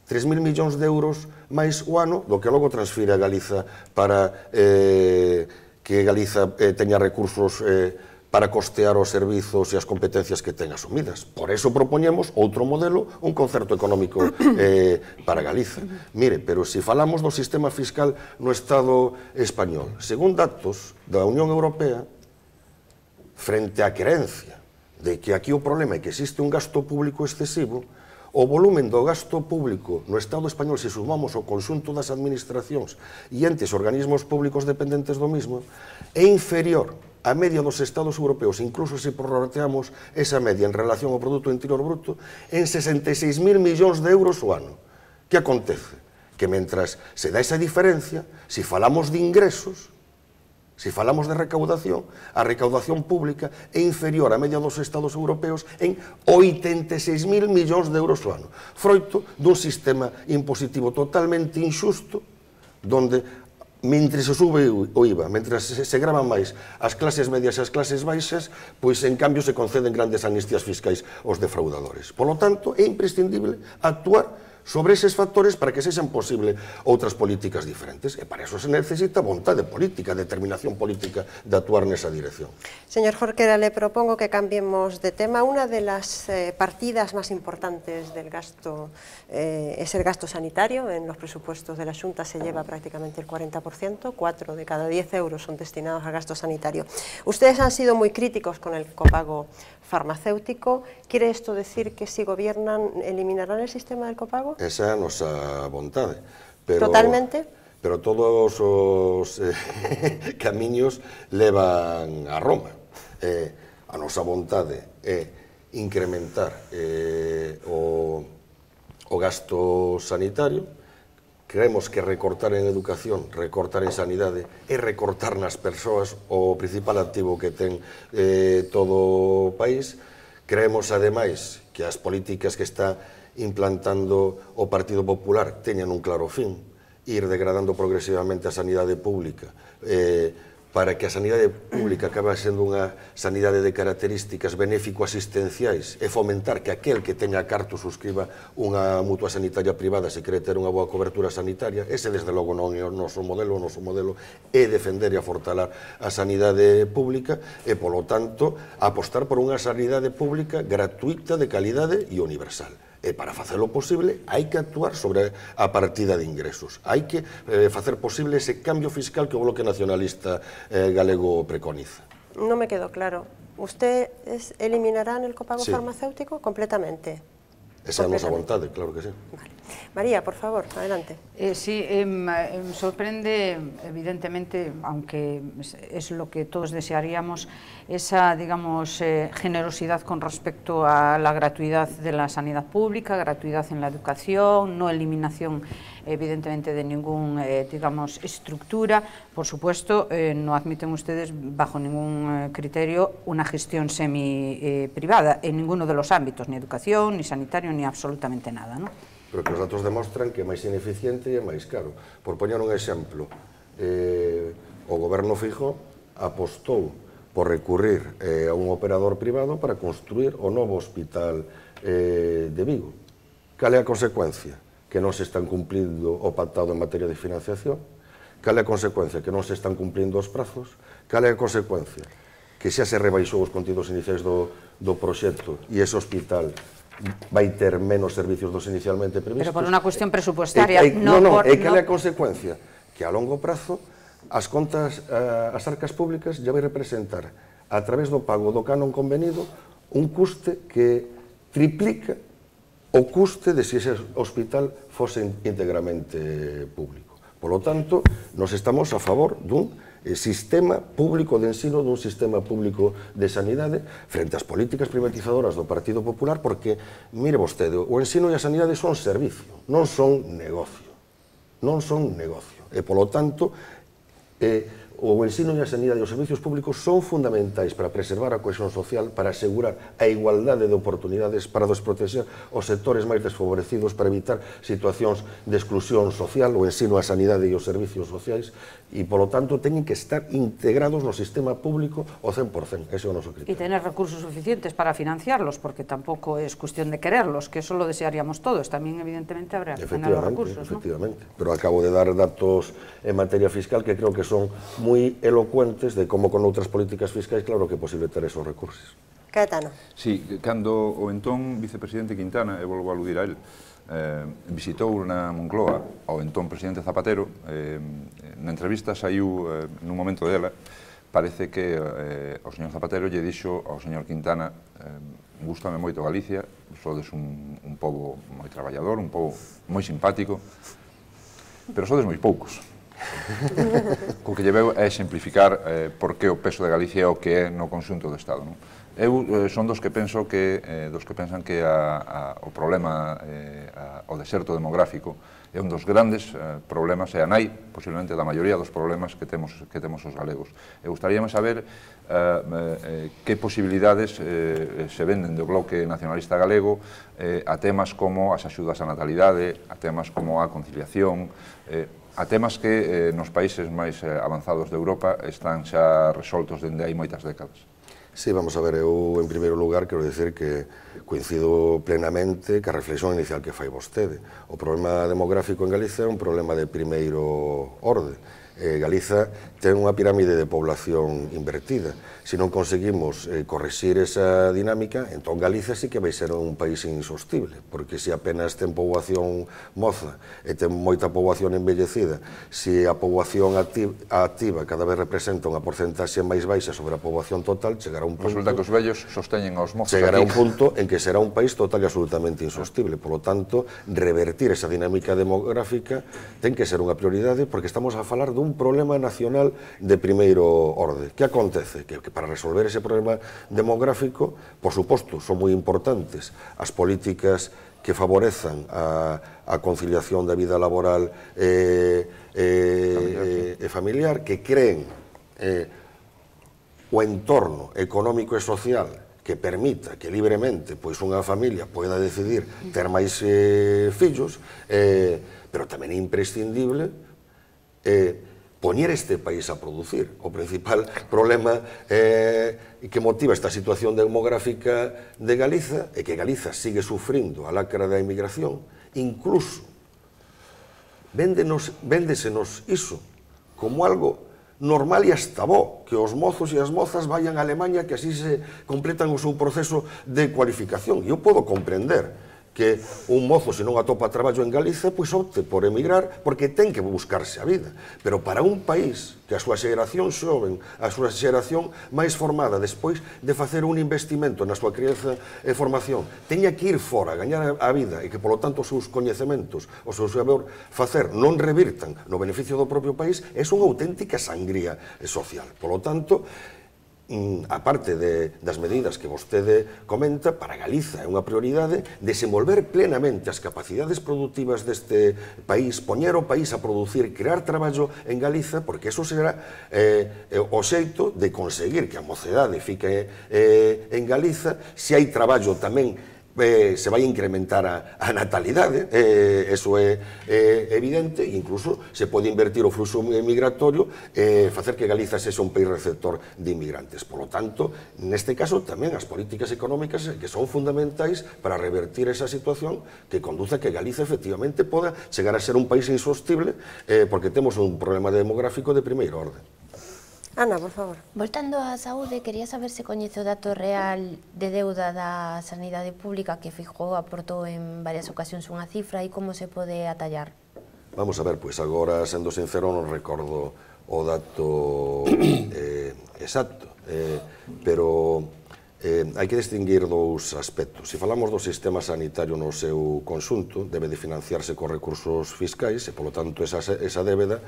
3.000 millóns de euros máis o ano do que logo transfire a Galiza para que Galiza teña recursos para costear os servizos e as competencias que ten asumidas. Por eso propoñemos outro modelo, un concerto económico para Galiza. Mire, pero se falamos do sistema fiscal no Estado español, según datos da Unión Europea, frente á creencia de que aquí o problema é que existe un gasto público excesivo, o volumen do gasto público no Estado español, se sumamos o conxunto das administracións e entes organismos públicos dependentes do mismo, é inferior a media dos Estados europeos, incluso se prorrateamos esa media en relación ao Produto Interior Bruto, en 66.000 millóns de euros o ano. Que acontece? Que mentras se dá esa diferencia, se falamos de ingresos, se falamos de recaudación, a recaudación pública é inferior á media dos Estados europeos en 86.000 millóns de euros o ano, froito dun sistema impositivo totalmente injusto, donde mentre se sube o IVA, mentre se gravan máis as clases medias e as clases baixas, pois en cambio se conceden grandes amnistías fiscais aos defraudadores. Por lo tanto, é imprescindible actuar sobre eses factores para que sexan posible outras políticas diferentes, e para eso se necesita vontade política, determinación política de actuar nesa dirección. Señor Jorquera, le propongo que cambiemos de tema. Una de las partidas más importantes del gasto es el gasto sanitario. En los presupuestos de la Xunta se lleva prácticamente el 40%, 4 de cada 10 euros son destinados al gasto sanitario. Ustedes han sido muy críticos con el copago farmacéutico. ¿Quiere esto decir que si gobiernan eliminarán el sistema del copago? Esa é a nosa vontade. Pero, ¿Totalmente? Pero todos os camiños levan a Roma. A nosa vontade é incrementar o gasto sanitario. Creemos que recortar en educación, recortar en sanidade e recortar nas persoas o principal activo que ten todo o país. Creemos, ademais, que as políticas que está implantando o Partido Popular teñan un claro fin, ir degradando progresivamente a sanidade pública para que a sanidade pública acabe sendo unha sanidade de características benéfico-asistenciais e fomentar que aquel que teña carto suscriba unha mutua sanitaria privada se quere ter unha boa cobertura sanitaria, ese desde logo non é o noso modelo é defender e afortalar a sanidade pública e, polo tanto, apostar por unha sanidade pública gratuita, de calidade e universal. E para facelo posible hai que actuar sobre a partida de ingresos, hai que facer posible ese cambio fiscal que o Bloque Nacionalista galego preconiza. Non me quedó claro. ¿Usted eliminará el copago Sí. farmacéutico completamente? Esa é a nosa vontade, claro que sí. Vale. María, por favor, adelante. Sí, me sorprende, evidentemente, aunque es lo que todos desearíamos, esa, digamos, generosidad con respecto a la gratuidad de la sanidad pública, gratuidad en la educación, no eliminación, evidentemente, de ninguna, digamos, estructura. Por supuesto, no admiten ustedes, bajo ningún criterio, una gestión semi-privada en ninguno de los ámbitos, ni educación, ni sanitario, ni absolutamente nada, ¿no? Pero que os datos demostran que é máis ineficiente e é máis caro. Por poñer un exemplo, o goberno Feijóo apostou por recurrir a un operador privado para construir o novo hospital de Vigo. Cal é a consecuencia? Que non se están cumplindo o pactado en materia de financiación. Cal é a consecuencia? Que non se están cumplindo os prazos. Cal é a consecuencia? Que xa se rebaixou os contidos iniciais do proxecto e ese hospital vai ter menos servicios dos inicialmente previstos. Pero por unha cuestión presupuestaria, non, é que é a consecuencia que a longo prazo as contas, as arcas públicas ya vai representar a través do pago do canon convenido un custe que triplica o custe de se ese hospital fose íntegramente público. Por lo tanto, nos estamos a favor dun sistema público de ensino, dun sistema público de sanidade frente ás políticas privatizadoras do Partido Popular, porque, mire vostede, o ensino e a sanidade son servicio, non son negocio. Non son negocio. E, polo tanto, o ensino e a sanidade e os servicios públicos son fundamentais para preservar a cohesión social, para asegurar a igualdade de oportunidades, para desproteger os sectores máis desfavorecidos, para evitar situacións de exclusión social, o ensino, a sanidade e os servicios sociais, e, polo tanto, teñen que estar integrados no sistema público ao 100%, ese é o noso criterio. Y tener recursos suficientes para financiarlos, porque tampoco es cuestión de quererlos, que eso lo desearíamos todos, también evidentemente habrá que tener los recursos, ¿no? Efectivamente, pero acabo de dar datos en materia fiscal que creo que son moi elocuentes de como con outras políticas fiscais claro que é posible ter esos recursos. Caetano. Sí, cando o entón vicepresidente Quintana, e volvo a aludir a él, visitou na Moncloa ao entón presidente Zapatero, na entrevista saiu nun momento dela, parece que o señor Zapatero lle dixo ao señor Quintana gústame moito Galicia, sodes un pobo moi traballador, un pobo moi simpático, pero sodes moi poucos. O que lle veu é exemplificar por que o peso de Galicia é o que é no conxunto do Estado. Eu son dos que pensan que o problema, o deserto demográfico, é un dos grandes problemas, e a nai, posiblemente, da maioría dos problemas que temos os galegos. E gustaríame saber que posibilidades se venden do Bloque Nacionalista Galego a temas como as axudas á natalidade, a temas como a conciliación, a temas que nos países máis avanzados de Europa están xa resoltos dende hai moitas décadas. Sí, vamos a ver, eu en primeiro lugar quero dicir que coincido plenamente ca reflexión inicial que fai vostede. O problema demográfico en Galicia é un problema de primeiro orde. Galiza ten unha pirámide de población invertida. Se non conseguimos correxir esa dinámica, entón Galicia sí que vai ser un país insostible, porque se apenas ten poboación moza e ten moita poboación envellecida, se a poboación activa cada vez representa unha porcentaxe máis baixa sobre a poboación total, chegará un punto... Resulta que os vellos sosteñen aos mozos. Chegará un punto en que será un país total e absolutamente insostible. Por lo tanto, revertir esa dinámica demográfica ten que ser unha prioridade, porque estamos a falar dun problema nacional de primeiro orde. Que acontece? Que para resolver ese problema demográfico, por suposto, son moi importantes as políticas que favorezan a conciliación da vida laboral e familiar, que creen o entorno económico e social que permita que libremente pois unha familia poida decidir ter máis fillos, pero tamén é imprescindible poñer este país a producir. O principal problema que motiva esta situación demográfica de Galiza é que Galiza sigue sufrindo a lacra da emigración, incluso véndesenos iso como algo normal e hasta bo, que os mozos e as mozas vayan a Alemanha, que así se completan o seu proceso de cualificación. E eu podo comprender que un mozo, se non atopa traballo en Galiza, pois opte por emigrar, porque ten que buscarse a vida. Pero para un país que a súa xeración xoven, a súa xeración máis formada, despois de facer un investimento na súa crianza e formación, teña que ir fora, gañar a vida, e que, polo tanto, os seus coñecementos, o seu saber facer, non revirtan no beneficio do propio país, é unha auténtica sangría social. Polo tanto, a parte das medidas que vostede comenta, para Galiza é unha prioridade desenvolver plenamente as capacidades productivas deste país, poñer o país a producir, crear traballo en Galiza, porque eso será o xeito de conseguir que a mocedade fique en Galiza. Se hai traballo tamén se vai incrementar a natalidade, eso é evidente, e incluso se pode invertir o fluxo migratorio e facer que Galiza sexa un país receptor de inmigrantes. Por lo tanto, neste caso, tamén as políticas económicas que son fundamentais para revertir esa situación que conduce a que Galiza efectivamente poda chegar a ser un país insostible, porque temos un problema demográfico de primeira orde. Ana, por favor. Voltando á saúde, quería saber se coñece o dato real de deuda da sanidade pública que Feijóo aportou en varias ocasións unha cifra e como se pode atallar. Vamos a ver, pois agora, sendo sincero, non recordo o dato exacto, pero hai que distinguir dous aspectos. Se falamos do sistema sanitario no seu conxunto, debe de financiarse con recursos fiscais e, polo tanto, esa débeda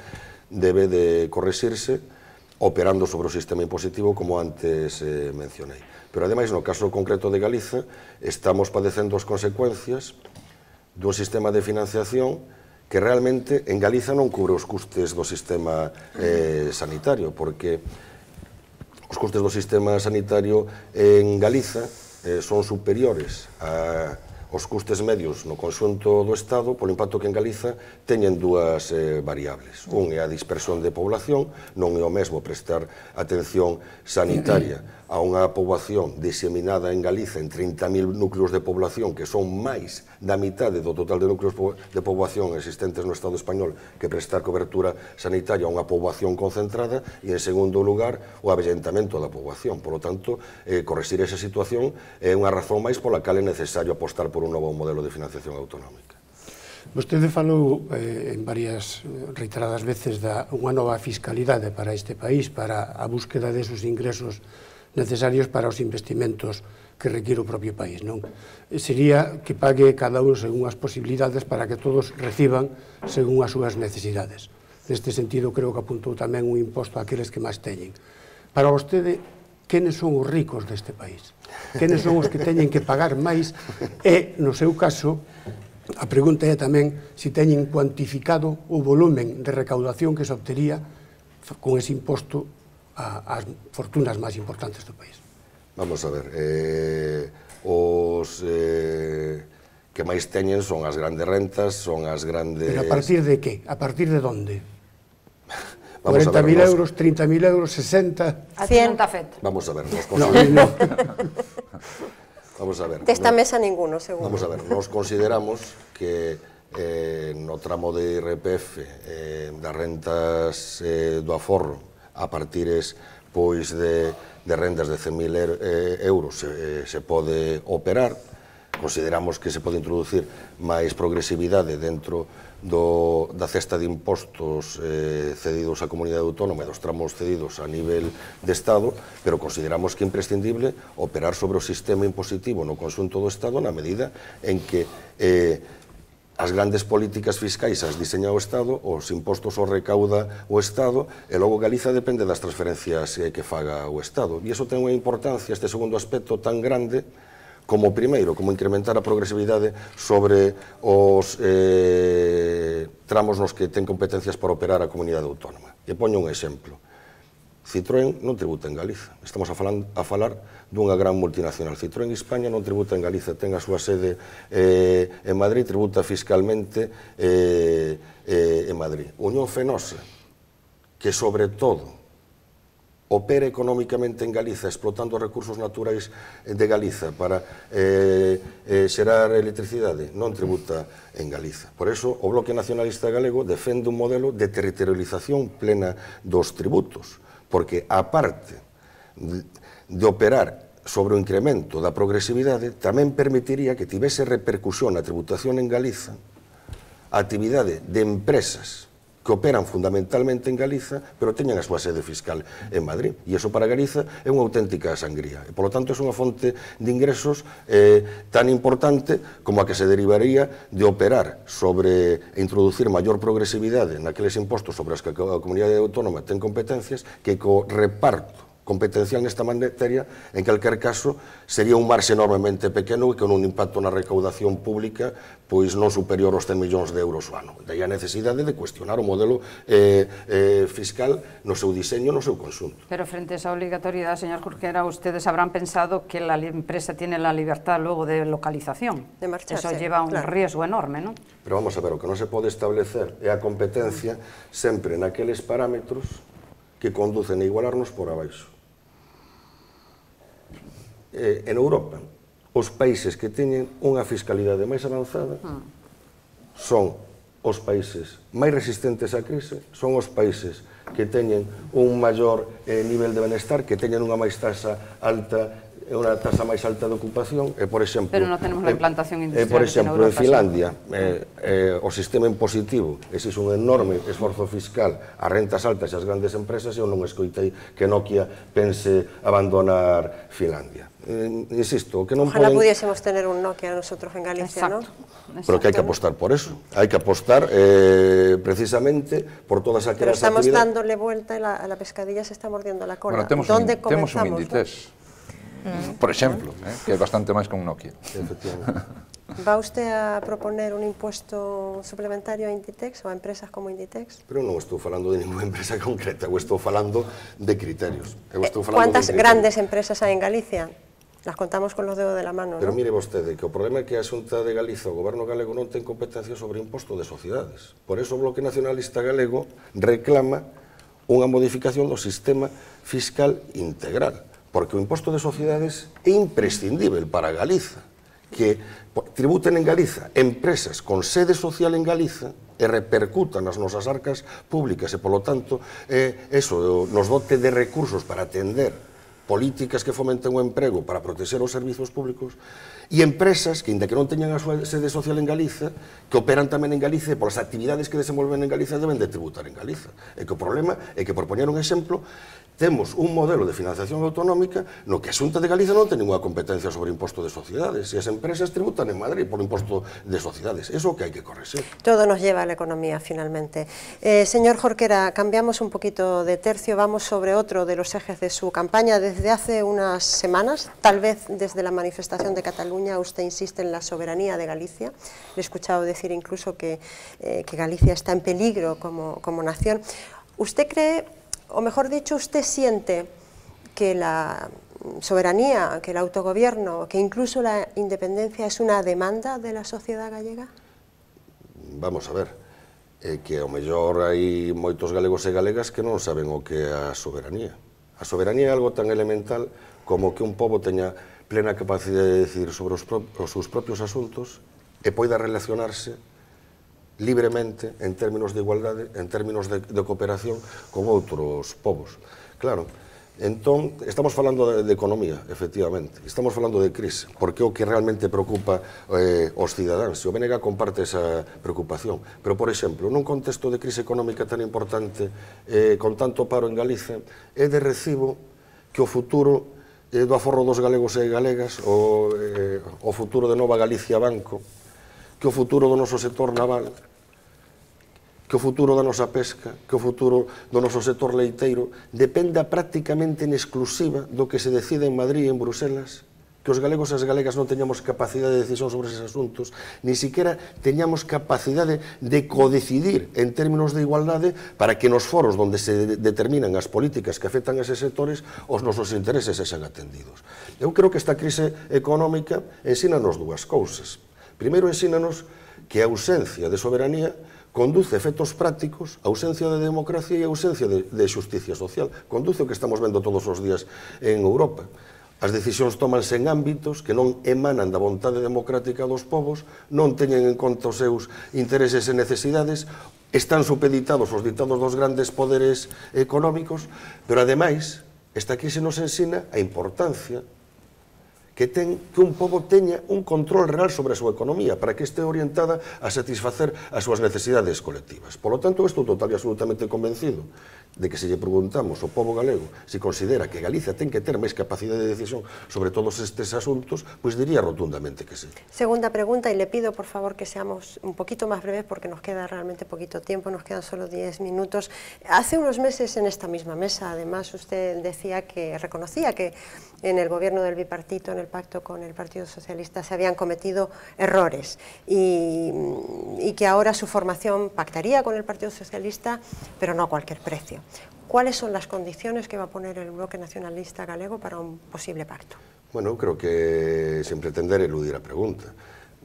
debe de correxirse operando sobre o sistema impositivo, como antes mencionei. Pero, ademais, no caso concreto de Galiza, estamos padecendo as consecuencias dun sistema de financiación que realmente en Galiza non cubre os custes do sistema sanitario, porque os custes do sistema sanitario en Galiza son superiores aos custes medios no conxunto do Estado, polo impacto que en Galiza teñen dúas variables. Un é a dispersión de población, non é o mesmo prestar atención sanitaria a unha poboación diseminada en Galiza en 30.000 núcleos de población, que son máis da mitade do total de núcleos de poboación existentes no Estado español, que prestar cobertura sanitaria a unha poboación concentrada, e, en segundo lugar, o avellentamento da poboación. Por lo tanto, correxir esa situación é unha razón máis pola cal é necesario apostar por un novo modelo de financiación autonómica. Vostede falou en varias reiteradas veces da unha nova fiscalidade para este país, para a búsqueda desos ingresos necesarios para os investimentos que requiere o propio país, non? Sería que pague cada un según as posibilidades para que todos reciban según as súas necesidades. Neste sentido, creo que apuntou tamén un imposto a aqueles que máis teñen. Para vostede, quenes son os ricos deste país? Quenes son os que teñen que pagar máis? E, no seu caso, a pregunta é tamén se teñen cuantificado o volumen de recaudación que se obtería con ese imposto ás fortunas máis importantes do país. Vamos a ver, os que máis teñen son as grandes rentas, son as grandes... Pero a partir de que? A partir de onde? 40.000 euros, 30.000 euros, 60... A 100 está feito. Vamos a ver, nos consideramos... Vamos a ver. Desta mesa ninguno, seguro. Vamos a ver, nos consideramos que no tramo de IRPF das rentas do aforro a partires pois de rendas de 100.000 euros se pode operar. Consideramos que se pode introducir máis progresividade dentro da cesta de impostos cedidos á comunidade autónoma e dos tramos cedidos a nivel de Estado, pero consideramos que é imprescindible operar sobre o sistema impositivo no conxunto do Estado na medida en que as grandes políticas fiscais as diseña o Estado, os impostos os recauda o Estado, e logo Galiza depende das transferencias que faga o Estado. E iso ten unha importancia, este segundo aspecto, tan grande como o primeiro, como incrementar a progresividade sobre os tramos nos que ten competencias para operar a comunidade autónoma. E poño un exemplo. Citroën non tributa en Galiza. Estamos a falar dunha gran multinacional. Citroën España non tributa en Galiza, ten a súa sede en Madrid, tributa fiscalmente en Madrid. Unión Fenosa que sobre todo opera económicamente en Galiza, explotando os recursos naturais de Galiza para xerar electricidade, non tributa en Galiza. Por eso, o Bloque Nacionalista Galego defende un modelo de territorialización plena dos tributos, porque, aparte de operar sobre o incremento da progresividade, tamén permitiría que tivese repercusión na tributación en Galiza a actividade de empresas que operan fundamentalmente en Galiza, pero teñen a súa sede fiscal en Madrid. E iso para Galiza é unha auténtica sangría. E, polo tanto, é unha fonte de ingresos tan importante como a que se derivaría de operar sobre e introducir maior progresividade naqueles impostos sobre as que a comunidade autónoma ten competencias que co reparto competencial nesta materia, en calquer caso, sería un marxe enormemente pequeno e con un impacto na recaudación pública pois non superior aos 100 millóns de euros ao ano. Daí a necesidade de cuestionar o modelo fiscal no seu diseño, no seu conxunto. Pero frente a esa obligatoriedade, señor Jorquera, ustedes habrán pensado que la empresa tiene la libertad luego de localización. De marcharse. Eso lleva un riesgo enorme, ¿no? Pero vamos a ver, o que non se pode establecer é a competencia sempre naqueles parámetros que conducen a igualarnos por abaixo. En Europa, os países que teñen unha fiscalidade máis avanzada son os países máis resistentes á crise, son os países que teñen un maior nivel de benestar, que teñen unha máis tasa alta, unha tasa máis alta de ocupación, e, por exemplo... Pero non tenemos a implantación industrial por exemplo, en en Finlandia, o sistema impositivo, existe un enorme esforzo fiscal ás rentas altas e ás grandes empresas, e eu non escoitei que Nokia pense abandonar Finlandia. Insisto, que non Ojalá poden... pudiésemos tener un Nokia nosotros en Galicia, ¿no? Pero que hai que apostar por eso, hai que apostar precisamente por todas Pero aquelas estamos actividades... dándole vuelta e la pescadilla se está mordiendo la cola. Bueno, temos un Inditex, por exemplo, que é bastante máis que un Nokia. ¿Va usted a proponer un impuesto suplementario a Inditex o a empresas como Inditex? Pero non estou falando de ninguna empresa concreta, eu estou falando de criterios. ¿Cuántas grandes empresas hai en Galicia? Las contamos con los dedos de la mano, Pero ¿no? mire vostede, que o problema é que a Xunta de Galiza, o Goberno galego, non ten competencia sobre o imposto de sociedades. Por eso o Bloque Nacionalista Galego reclama unha modificación do sistema fiscal integral, porque o imposto de sociedades é imprescindível para Galiza, que tributen en Galiza empresas con sede social en Galiza e repercutan nas nosas arcas públicas e, polo tanto, eso nos dote de recursos para atender políticas que fomenten o emprego para protexer os servizos públicos e empresas que, inda que non teñan a súa sede social en Galiza, que operan tamén en Galiza e polas actividades que desenvolven en Galiza deben de tributar en Galiza. E que o problema é que, por poñer un exemplo, temos un modelo de financiación autonómica no que a Xunta de Galiza non ten ninguna competencia sobre o imposto de sociedades e as empresas tributan en Madrid por o imposto de sociedades. Eso que hai que corregir. Todo nos lleva a la economía, finalmente. Señor Jorquera, cambiamos un poquito de tercio, vamos sobre otro de los ejes de su campaña. Desde hace unas semanas, tal vez desde la manifestación de Cataluña, usted insiste en la soberanía de Galicia. Le he escuchado decir incluso que Galicia está en peligro como nación. ¿Usted cree, o mejor dicho, usted siente que la soberanía, que el autogobierno, que incluso la independencia es una demanda de la sociedade gallega? Vamos a ver, que ao mellor hai moitos galegos e galegas que non saben o que é a soberanía. A soberanía é algo tan elemental como que un pobo teña plena capacidade de decidir sobre os seus propios asuntos e poida relacionarse libremente en términos de igualdade, en términos de cooperación con outros povos. Claro, entón, estamos falando de economía, efectivamente, estamos falando de crise, porque é o que realmente preocupa os cidadáns, e o BNG comparte esa preocupación. Pero, por exemplo, nun contexto de crise económica tan importante, con tanto paro en Galiza, é de recibo que o futuro do aforro dos galegos e galegas, o futuro de Nova Galicia Banco, que o futuro do noso sector naval, que o futuro da nosa pesca, que o futuro do noso sector leiteiro dependa prácticamente en exclusiva do que se decide en Madrid e en Bruselas, que os galegos e as galegas non teñamos capacidade de decisión sobre eses asuntos, ni siquiera teñamos capacidade de codecidir en términos de igualdade para que nos foros onde se determinan as políticas que afectan a eses sectores os nosos intereses sexan atendidos. Eu creo que esta crise económica ensínanos dúas cousas. Primeiro, ensínanos que a ausencia de soberanía conduce efectos prácticos, ausencia de democracia e ausencia de xusticia social. Conduce o que estamos vendo todos os días en Europa. As decisións tómanse en ámbitos que non emanan da vontade democrática dos povos, non teñen en conta os seus intereses e necesidades, están supeditados aos ditados dos grandes poderes económicos, pero ademais, esta crise nos ensina a importancia que un pobo teña un control real sobre a súa economía para que este orientada a satisfacer as súas necesidades colectivas. Por lo tanto, estou total e absolutamente convencido de que se lle preguntamos ao pobo galego se considera que Galicia ten que ter máis capacidade de decisión sobre todos estes asuntos, pois diría rotundamente que sí. Segunda pregunta, y le pido por favor que seamos un poquito más breves porque nos queda realmente poquito tiempo, nos quedan solo 10 minutos. Hace unos meses en esta misma mesa, además, usted decía que reconocía que en el gobierno del bipartito, en el pacto con el Partido Socialista, se habían cometido errores y que ahora su formación pactaría con el Partido Socialista, pero no a cualquier precio. ¿Cuáles son las condiciones que va a poner el bloque nacionalista galego para un posible pacto? Bueno, creo que sin pretender eludir a pregunta.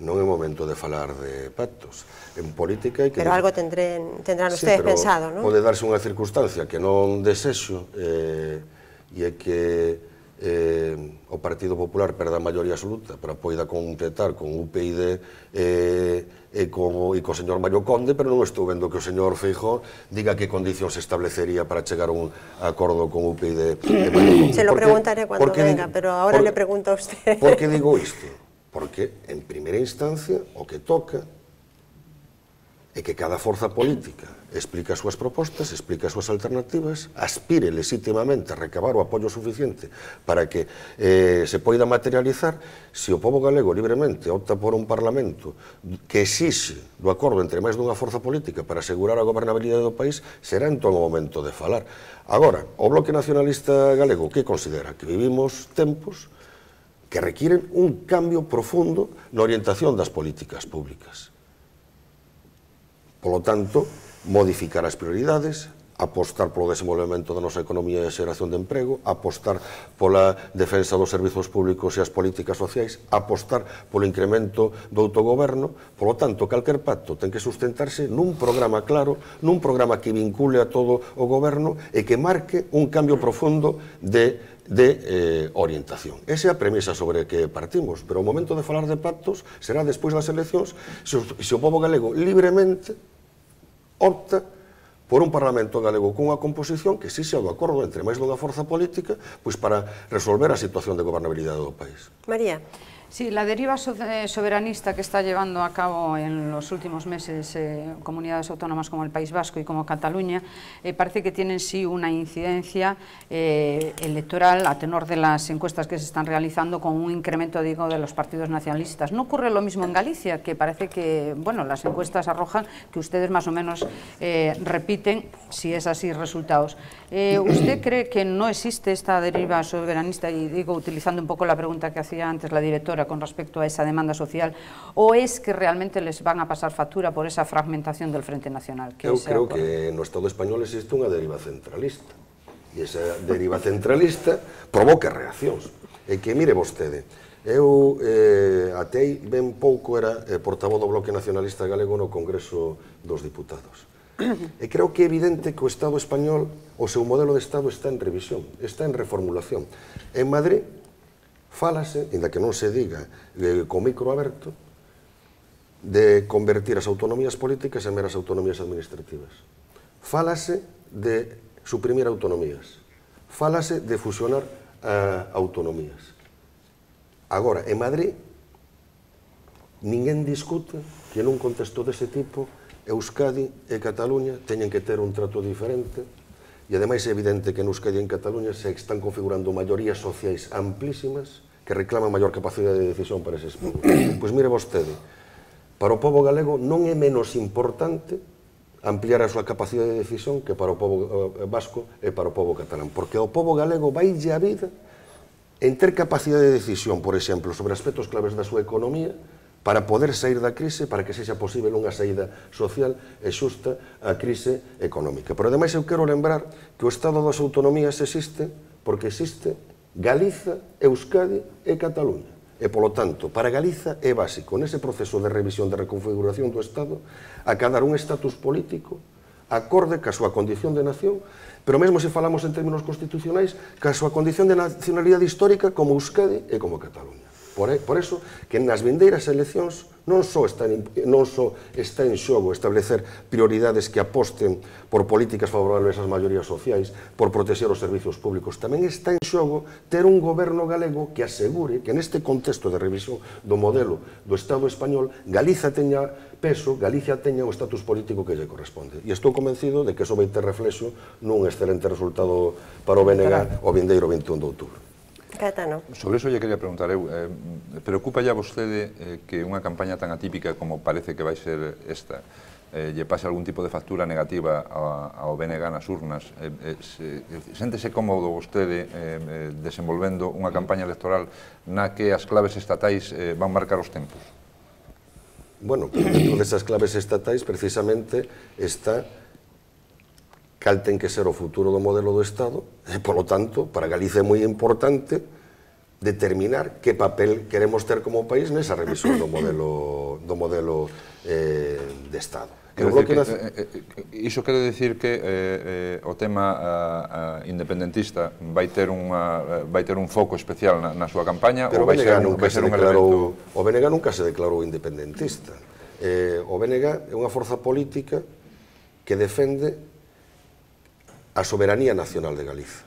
Non é momento de falar de pactos. En política hai que... Pero algo tendrán ustedes pensado, non? Pode darse unha circunstancia que non desexo e é que o Partido Popular perda a maioría absoluta para poida completar con UPyD e co señor Mario Conde, pero non estou vendo que o señor Feijóo diga que condicións se establecería para chegar a un acordo con UPyD e Mario Conde. Se lo preguntaré cuando venga, pero ahora le pregunto a usted. Por que digo isto? Porque, en primeira instancia, o que toca é que cada forza política explica as súas propostas, explica as súas alternativas, aspire legítimamente a recabar o apoio suficiente para que se poida materializar. Se o pobo galego libremente opta por un parlamento que exixe do acordo entre máis dunha forza política para asegurar a gobernabilidade do país, será entón o momento de falar. Agora, o Bloque Nacionalista Galego, que considera que vivimos tempos que requiren un cambio profundo na orientación das políticas públicas. Polo tanto, modificar as prioridades, apostar polo desenvolvemento da nosa economía e a xeración de emprego, apostar pola defensa dos servizos públicos e as políticas sociais, apostar polo incremento do autogoberno. Polo tanto, calquer pacto ten que sustentarse nun programa claro, nun programa que vincule a todo o goberno e que marque un cambio profundo de orientación. Esa é a premisa sobre que partimos, pero o momento de falar de pactos será despois das eleccións, se o pobo galego libremente opta por un Parlamento galego cunha composición que si xa do acordo entre máis dunha forza política, pois para resolver a situación de gobernabilidade do país. María. Sí, la deriva soberanista que está llevando a cabo en los últimos meses comunidades autónomas como el País Vasco y como Cataluña parece que tienen sí una incidencia electoral a tenor de las encuestas que se están realizando con un incremento, digo, de los partidos nacionalistas. ¿No ocurre lo mismo en Galicia? Que parece que, bueno, las encuestas arrojan que ustedes más o menos repiten, si es así, resultados. ¿Usted cree que no existe esta deriva soberanista? Y digo, utilizando un poco la pregunta que hacía antes la directora con respecto a esa demanda social, o es que realmente les van a pasar factura por esa fragmentación del Frente Nacional? Eu creo que no Estado español existe unha deriva centralista, e esa deriva centralista provoca reaccións. E que, mire vostede, eu até aí ben pouco era portavoz do Bloque Nacionalista Galego no Congreso dos Diputados. E creo que é evidente que o Estado español, o seu modelo de Estado está en revisión, está en reformulación. En Madrid fálase, ainda que non se diga con micro aberto, de convertir as autonomías políticas en meras autonomías administrativas. Fálase de suprimir autonomías. Fálase de fusionar autonomías. Agora, en Madrid, ninguén discute que nun contexto dese tipo Euskadi e Cataluña teñen que ter un trato diferente. E ademais é evidente que en Euskadi e en Cataluña se están configurando maiorías sociais amplísimas que reclaman maior capacidade de decisión para eses povos. Pois mire vostede, para o pobo galego non é menos importante ampliar a súa capacidade de decisión que para o pobo vasco e para o pobo catalán, porque ao pobo galego vaille a vida en ter capacidade de decisión, por exemplo, sobre aspectos claves da súa economía, para poder sair da crise, para que sexa posible unha saída social e xusta á crise económica. Pero, ademais, eu quero lembrar que o Estado das Autonomías existe porque existe Galiza, Euskadi e Cataluña. E, polo tanto, para Galiza é básico, nese proceso de revisión de reconfiguración do Estado, acadar un estatus político acorde ca súa condición de nación, pero mesmo se falamos en términos constitucionais, ca súa condición de nacionalidade histórica como Euskadi e como Cataluña. Por eso, que nas vindeiras eleccións non só está en xogo establecer prioridades que aposten por políticas favorables ás maiorías sociais, por protexer os servizos públicos, tamén está en xogo ter un goberno galego que asegure que neste contexto de revisión do modelo do Estado español, Galiza teña peso, Galicia teña o estatus político que lle corresponde. E estou convencido de que iso vai ter reflexo nun excelente resultado para o BNG o vindeiro 21 de outubro. Caetano. Sobre eso lle quería preguntar eu, preocupa ya vostede que unha campaña tan atípica como parece que vai ser esta, lle pase algún tipo de factura negativa ao BNG nas urnas? Séntese cómodo vostede desenvolvendo unha campaña electoral na que as claves estatais van marcar os tempos? Bueno, dentro desas claves estatais precisamente está cal ten que ser o futuro do modelo do Estado e, polo tanto, para Galicia é moi importante determinar que papel queremos ter como país nesa revisión do modelo de Estado. Iso quere dicir que o tema independentista vai ter un foco especial na súa campaña ou vai ser un elemento? O BNG nunca se declarou independentista. O BNG é unha forza política que defende a soberanía nacional de Galiza.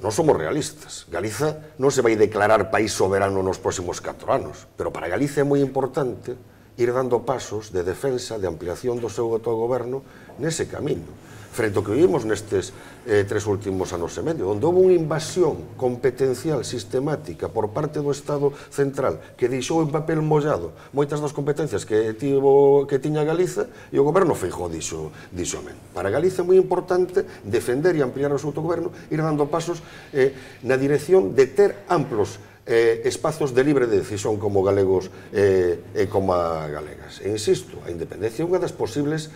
Non somos realistas. Galiza non se vai declarar país soberano nos próximos 4 anos, pero para Galiza é moi importante ir dando pasos de defensa, de ampliación do seu autogoberno nese camiño. Frente ao que vivimos nestes 3 últimos anos e medio, onde houve unha invasión competencial sistemática por parte do Estado central que deixou en papel mollado moitas das competencias que tiña Galiza e o goberno Feijóo dixo amén. Para Galiza é moi importante defender e ampliar o seu autogoberno, ir dando pasos na dirección de ter amplos espazos de libre decisión como galegos e como galegas. E insisto, a independencia é unha das posibles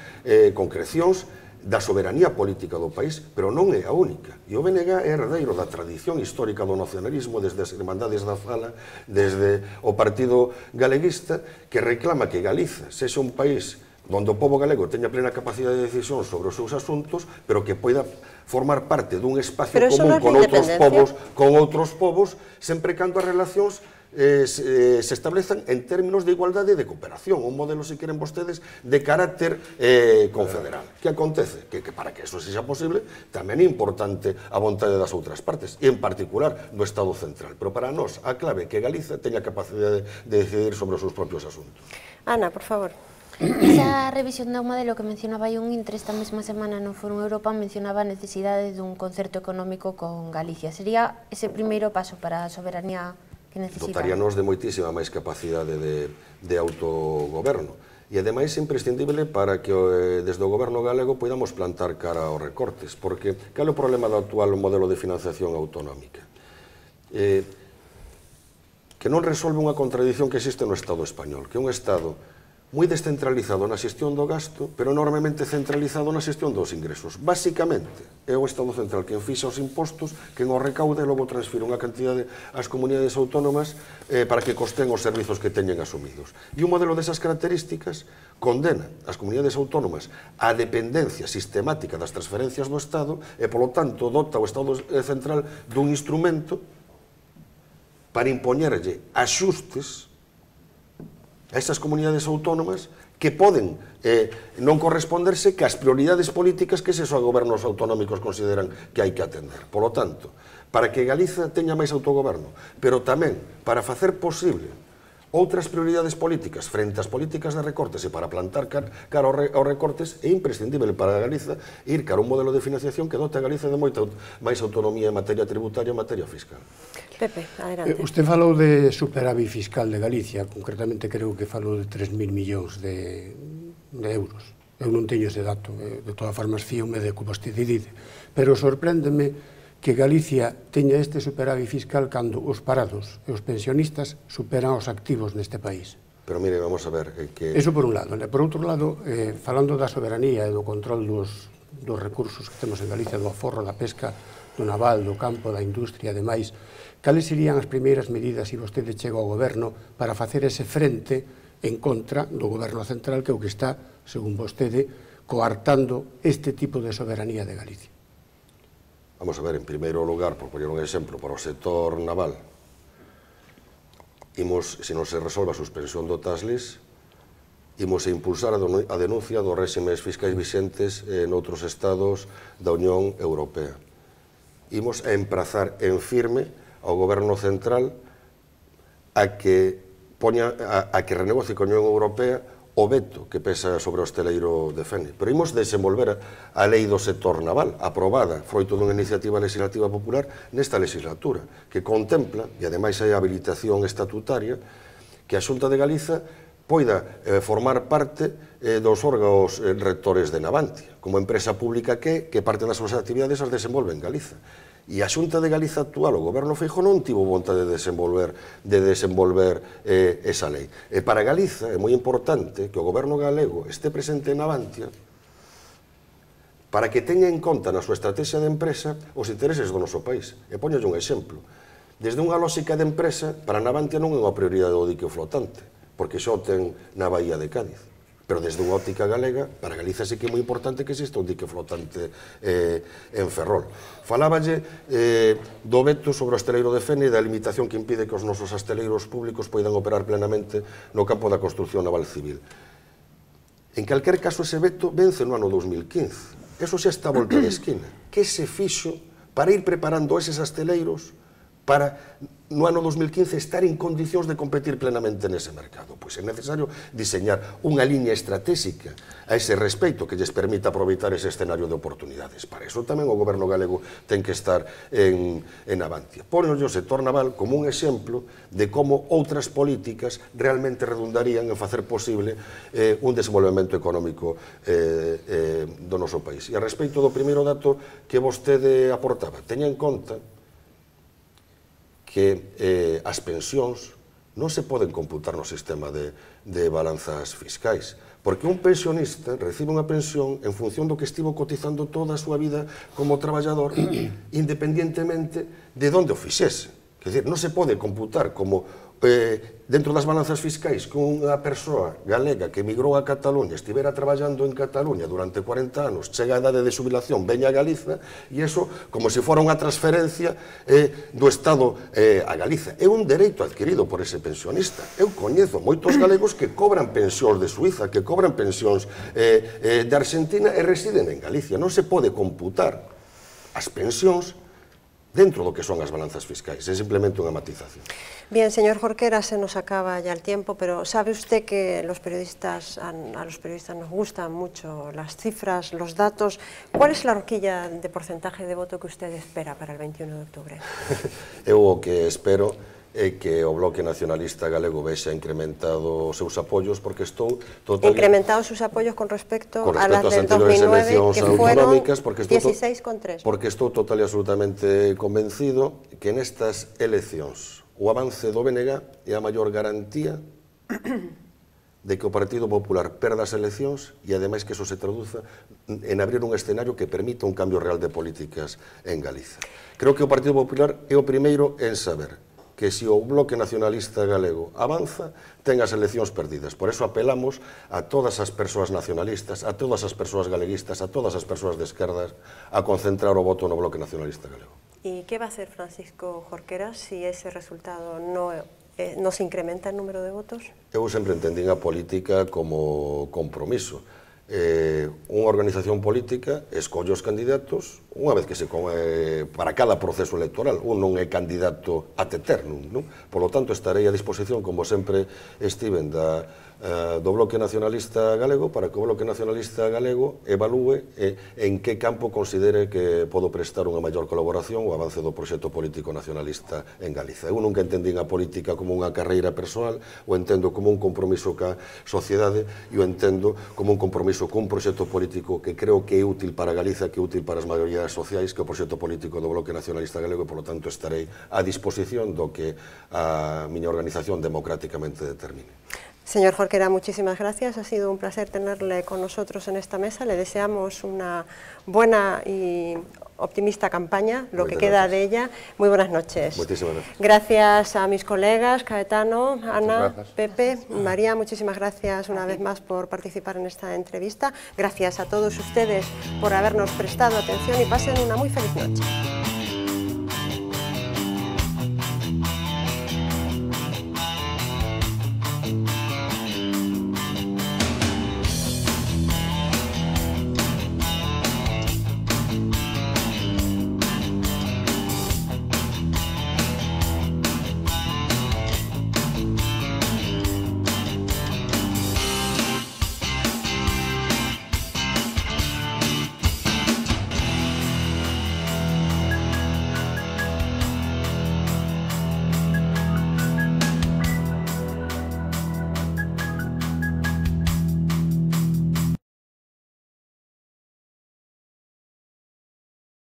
concrecións da soberanía política do país, pero non é a única. E o BNG é herdeiro da tradición histórica do nacionalismo desde as Irmandades da Fala, desde o Partido Galeguista, que reclama que Galiza sexa un país onde o pobo galego teña plena capacidade de decisión sobre os seus asuntos, pero que poida formar parte dun espacio común con outros povos, sempre cando as relacións se establezan en términos de igualdade e de cooperación, un modelo, se queren vostedes, de carácter confederal. Que acontece? Que para que eso sexa posible tamén é importante a vontade das outras partes, e en particular do Estado central. Pero para nós a clave é que Galiza teña capacidade de decidir sobre os seus propios asuntos. Ana, por favor. Esa revisión do modelo que mencionaba un Intre esta mesma semana no Fórum Europa mencionaba a necesidade dun concerto económico con Galicia. Sería ese primeiro paso para a soberanía que necesita? Dotaríanos de moitísima máis capacidade de autogoberno. E, ademais, é imprescindible para que desde o goberno galego podamos plantar cara aos recortes, porque cal é o problema do actual modelo de financiación autonómica? Que non resolve unha contradición que existe no Estado español, que é un Estado moi descentralizado na xestión do gasto, pero enormemente centralizado na xestión dos ingresos. Básicamente, é o Estado central quen fixa os impostos, quen os recauda e logo transfire unha cantidade ás comunidades autónomas para que costen os servizos que teñen asumidos. E un modelo desas características condena as comunidades autónomas á dependencia sistemática das transferencias do Estado e, polo tanto, dota o Estado central dun instrumento para impoñerlle axustes a esas comunidades autónomas que poden non corresponderse que as prioridades políticas que eses gobernos autonómicos consideran que hai que atender. Por lo tanto, para que Galiza teña máis autogoberno, pero tamén para facer posible outras prioridades políticas frente ás políticas de recortes e para plantar cara aos recortes, é imprescindible para Galiza ir cara a un modelo de financiación que dote a Galiza de moita máis autonomía en materia tributaria e en materia fiscal. Pepe, adelante. Usted falou de superávit fiscal de Galicia, concretamente creo que falou de 3.000 millóns de euros. Eu non teño ese dato, de todas formas fíome de que vostede dice, pero sorpréndeme que Galicia teña este superávit fiscal cando os parados e os pensionistas superan os activos neste país. Pero mire, vamos a ver que... Eso por un lado. Por outro lado, falando da soberanía e do control dos recursos que temos en Galicia, do aforro, da pesca, do naval, do campo, da industria e demais, cales serían as primeiras medidas se vostede chega ao goberno para facer ese frente en contra do goberno central que é o que está, según vostede, coartando este tipo de soberanía de Galicia? Vamos a ver, en primeiro lugar, por poñer un exemplo, para o sector naval, se non se resolve a suspensión do TASLIS, imos a impulsar a denuncia dos réximes fiscais vixentes noutros estados da Unión Europea. Imos a emprazar en firme ao goberno central a que renegocie con a Unión Europea o veto que pesa sobre o hosteleiro de Fene. Pero imos desenvolver a lei do sector naval, aprobada, froito dunha iniciativa legislativa popular nesta legislatura, que contempla, e ademais hai habilitación estatutaria, que a Xunta de Galiza poida formar parte dos órganos rectores de Navantia, como empresa pública que parte das súas actividades as desenvolve en Galiza. E a Xunta de Galiza actual, o goberno Feijóo, non tivo vontade de desenvolver esa lei. E para Galiza é moi importante que o goberno galego este presente en Navantia para que teña en conta na súa estrategia de empresa os intereses do noso país. E poñolle un exemplo. Desde unha lógica de empresa, para Navantia non é unha prioridade o dique flotante, porque xa o ten na Bahía de Cádiz. Pero desde unha óptica galega, para Galiza sí que é moi importante que exista un dique flotante en Ferrol. Faláballe do veto sobre o hosteleiro de Fene e da limitación que impide que os nosos hosteleiros públicos poidan operar plenamente no campo da construción naval civil. En calquer caso, ese veto vence no ano 2015. Eso xa está a volta de esquina. Que se fixo para ir preparando eses hosteleiros para no ano 2015 estar en condicións de competir plenamente nese mercado? Pois é necesario diseñar unha liña estratégica a ese respecto que lles permita aproveitar ese escenario de oportunidades. Para iso tamén o goberno galego ten que estar en Navantia. Pónenlle o sector naval como un exemplo de como outras políticas realmente redundarían en facer posible un desenvolvemento económico do noso país. E a respecto do primeiro dato que vostede aportaba, teña en conta que as pensións non se poden computar no sistema de balanzas fiscais, porque un pensionista recibe unha pensión en función do que estivo cotizando toda a súa vida como traballador, independientemente de onde o fixese. Quer dizer, non se pode computar como dentro das balanzas fiscais que unha persoa galega que emigrou a Cataluña estivera traballando en Cataluña durante 40 anos, chega a idade de xubilación, veña a Galiza, e iso como se fora unha transferencia do Estado a Galiza. É un dereito adquirido por ese pensionista. Eu coñezo moitos galegos que cobran pensións de Suiza, que cobran pensións de Argentina e residen en Galicia. Non se pode computar as pensións dentro do que son as balanzas fiscais. É simplemente unha matización. Bien, señor Jorquera, se nos acaba ya el tiempo, pero ¿sabe usted que a los periodistas nos gustan mucho las cifras, los datos? ¿Cuál es la horquilla de porcentaje de voto que usted espera para el 21 de octubre? Eu o que espero é que o Bloque Nacionalista Galego vexa incrementado os seus apoios, porque estou totalmente... Incrementados sus apoyos con respecto a las del 2009, que fueron 16,3. Porque estou total e absolutamente convencido que nestas eleccións o avance do BNG é a maior garantía de que o Partido Popular perda as eleccións e, ademais, que eso se traduza en abrir un escenario que permita un cambio real de políticas en Galiza. Creo que o Partido Popular é o primeiro en saber que se o Bloque Nacionalista Galego avanza, ten as eleccións perdidas. Por eso apelamos a todas as persoas nacionalistas, a todas as persoas galeguistas, a todas as persoas de esquerdas a concentrar o voto no Bloque Nacionalista Galego. ¿Y qué va a hacer Francisco Jorquera si ese resultado no se incrementa el número de votos? Eu sempre entendín a política como compromiso. Unha organización política escolle os candidatos unha vez que se para cada proceso electoral. Un non é candidato ad eternum, non? Por lo tanto, estarei a disposición, como sempre estiven, do Bloque Nacionalista Galego para que o Bloque Nacionalista Galego evalúe en que campo considere que podo prestar unha maior colaboración o avance do proxecto político nacionalista en Galiza. Eu nunca entendín a política como unha carreira persoal, o entendo como un compromiso ca sociedade e o entendo como un compromiso cun proxecto político que creo que é útil para Galiza, que é útil para as maiorías sociais, que é o proxecto político do Bloque Nacionalista Galego, e, polo tanto, estarei a disposición do que a miña organización democráticamente determine. Señor Jorquera, muchísimas gracias. Ha sido un placer tenerle con nosotros en esta mesa. Le deseamos una buena y optimista campaña, lo que queda de ella. Muy buenas noches. Muchísimas gracias. Gracias a mis colegas, Caetano, Ana, Pepe, María, muchísimas gracias una vez más por participar en esta entrevista. Gracias a todos ustedes por habernos prestado atención y pasen una muy feliz noche.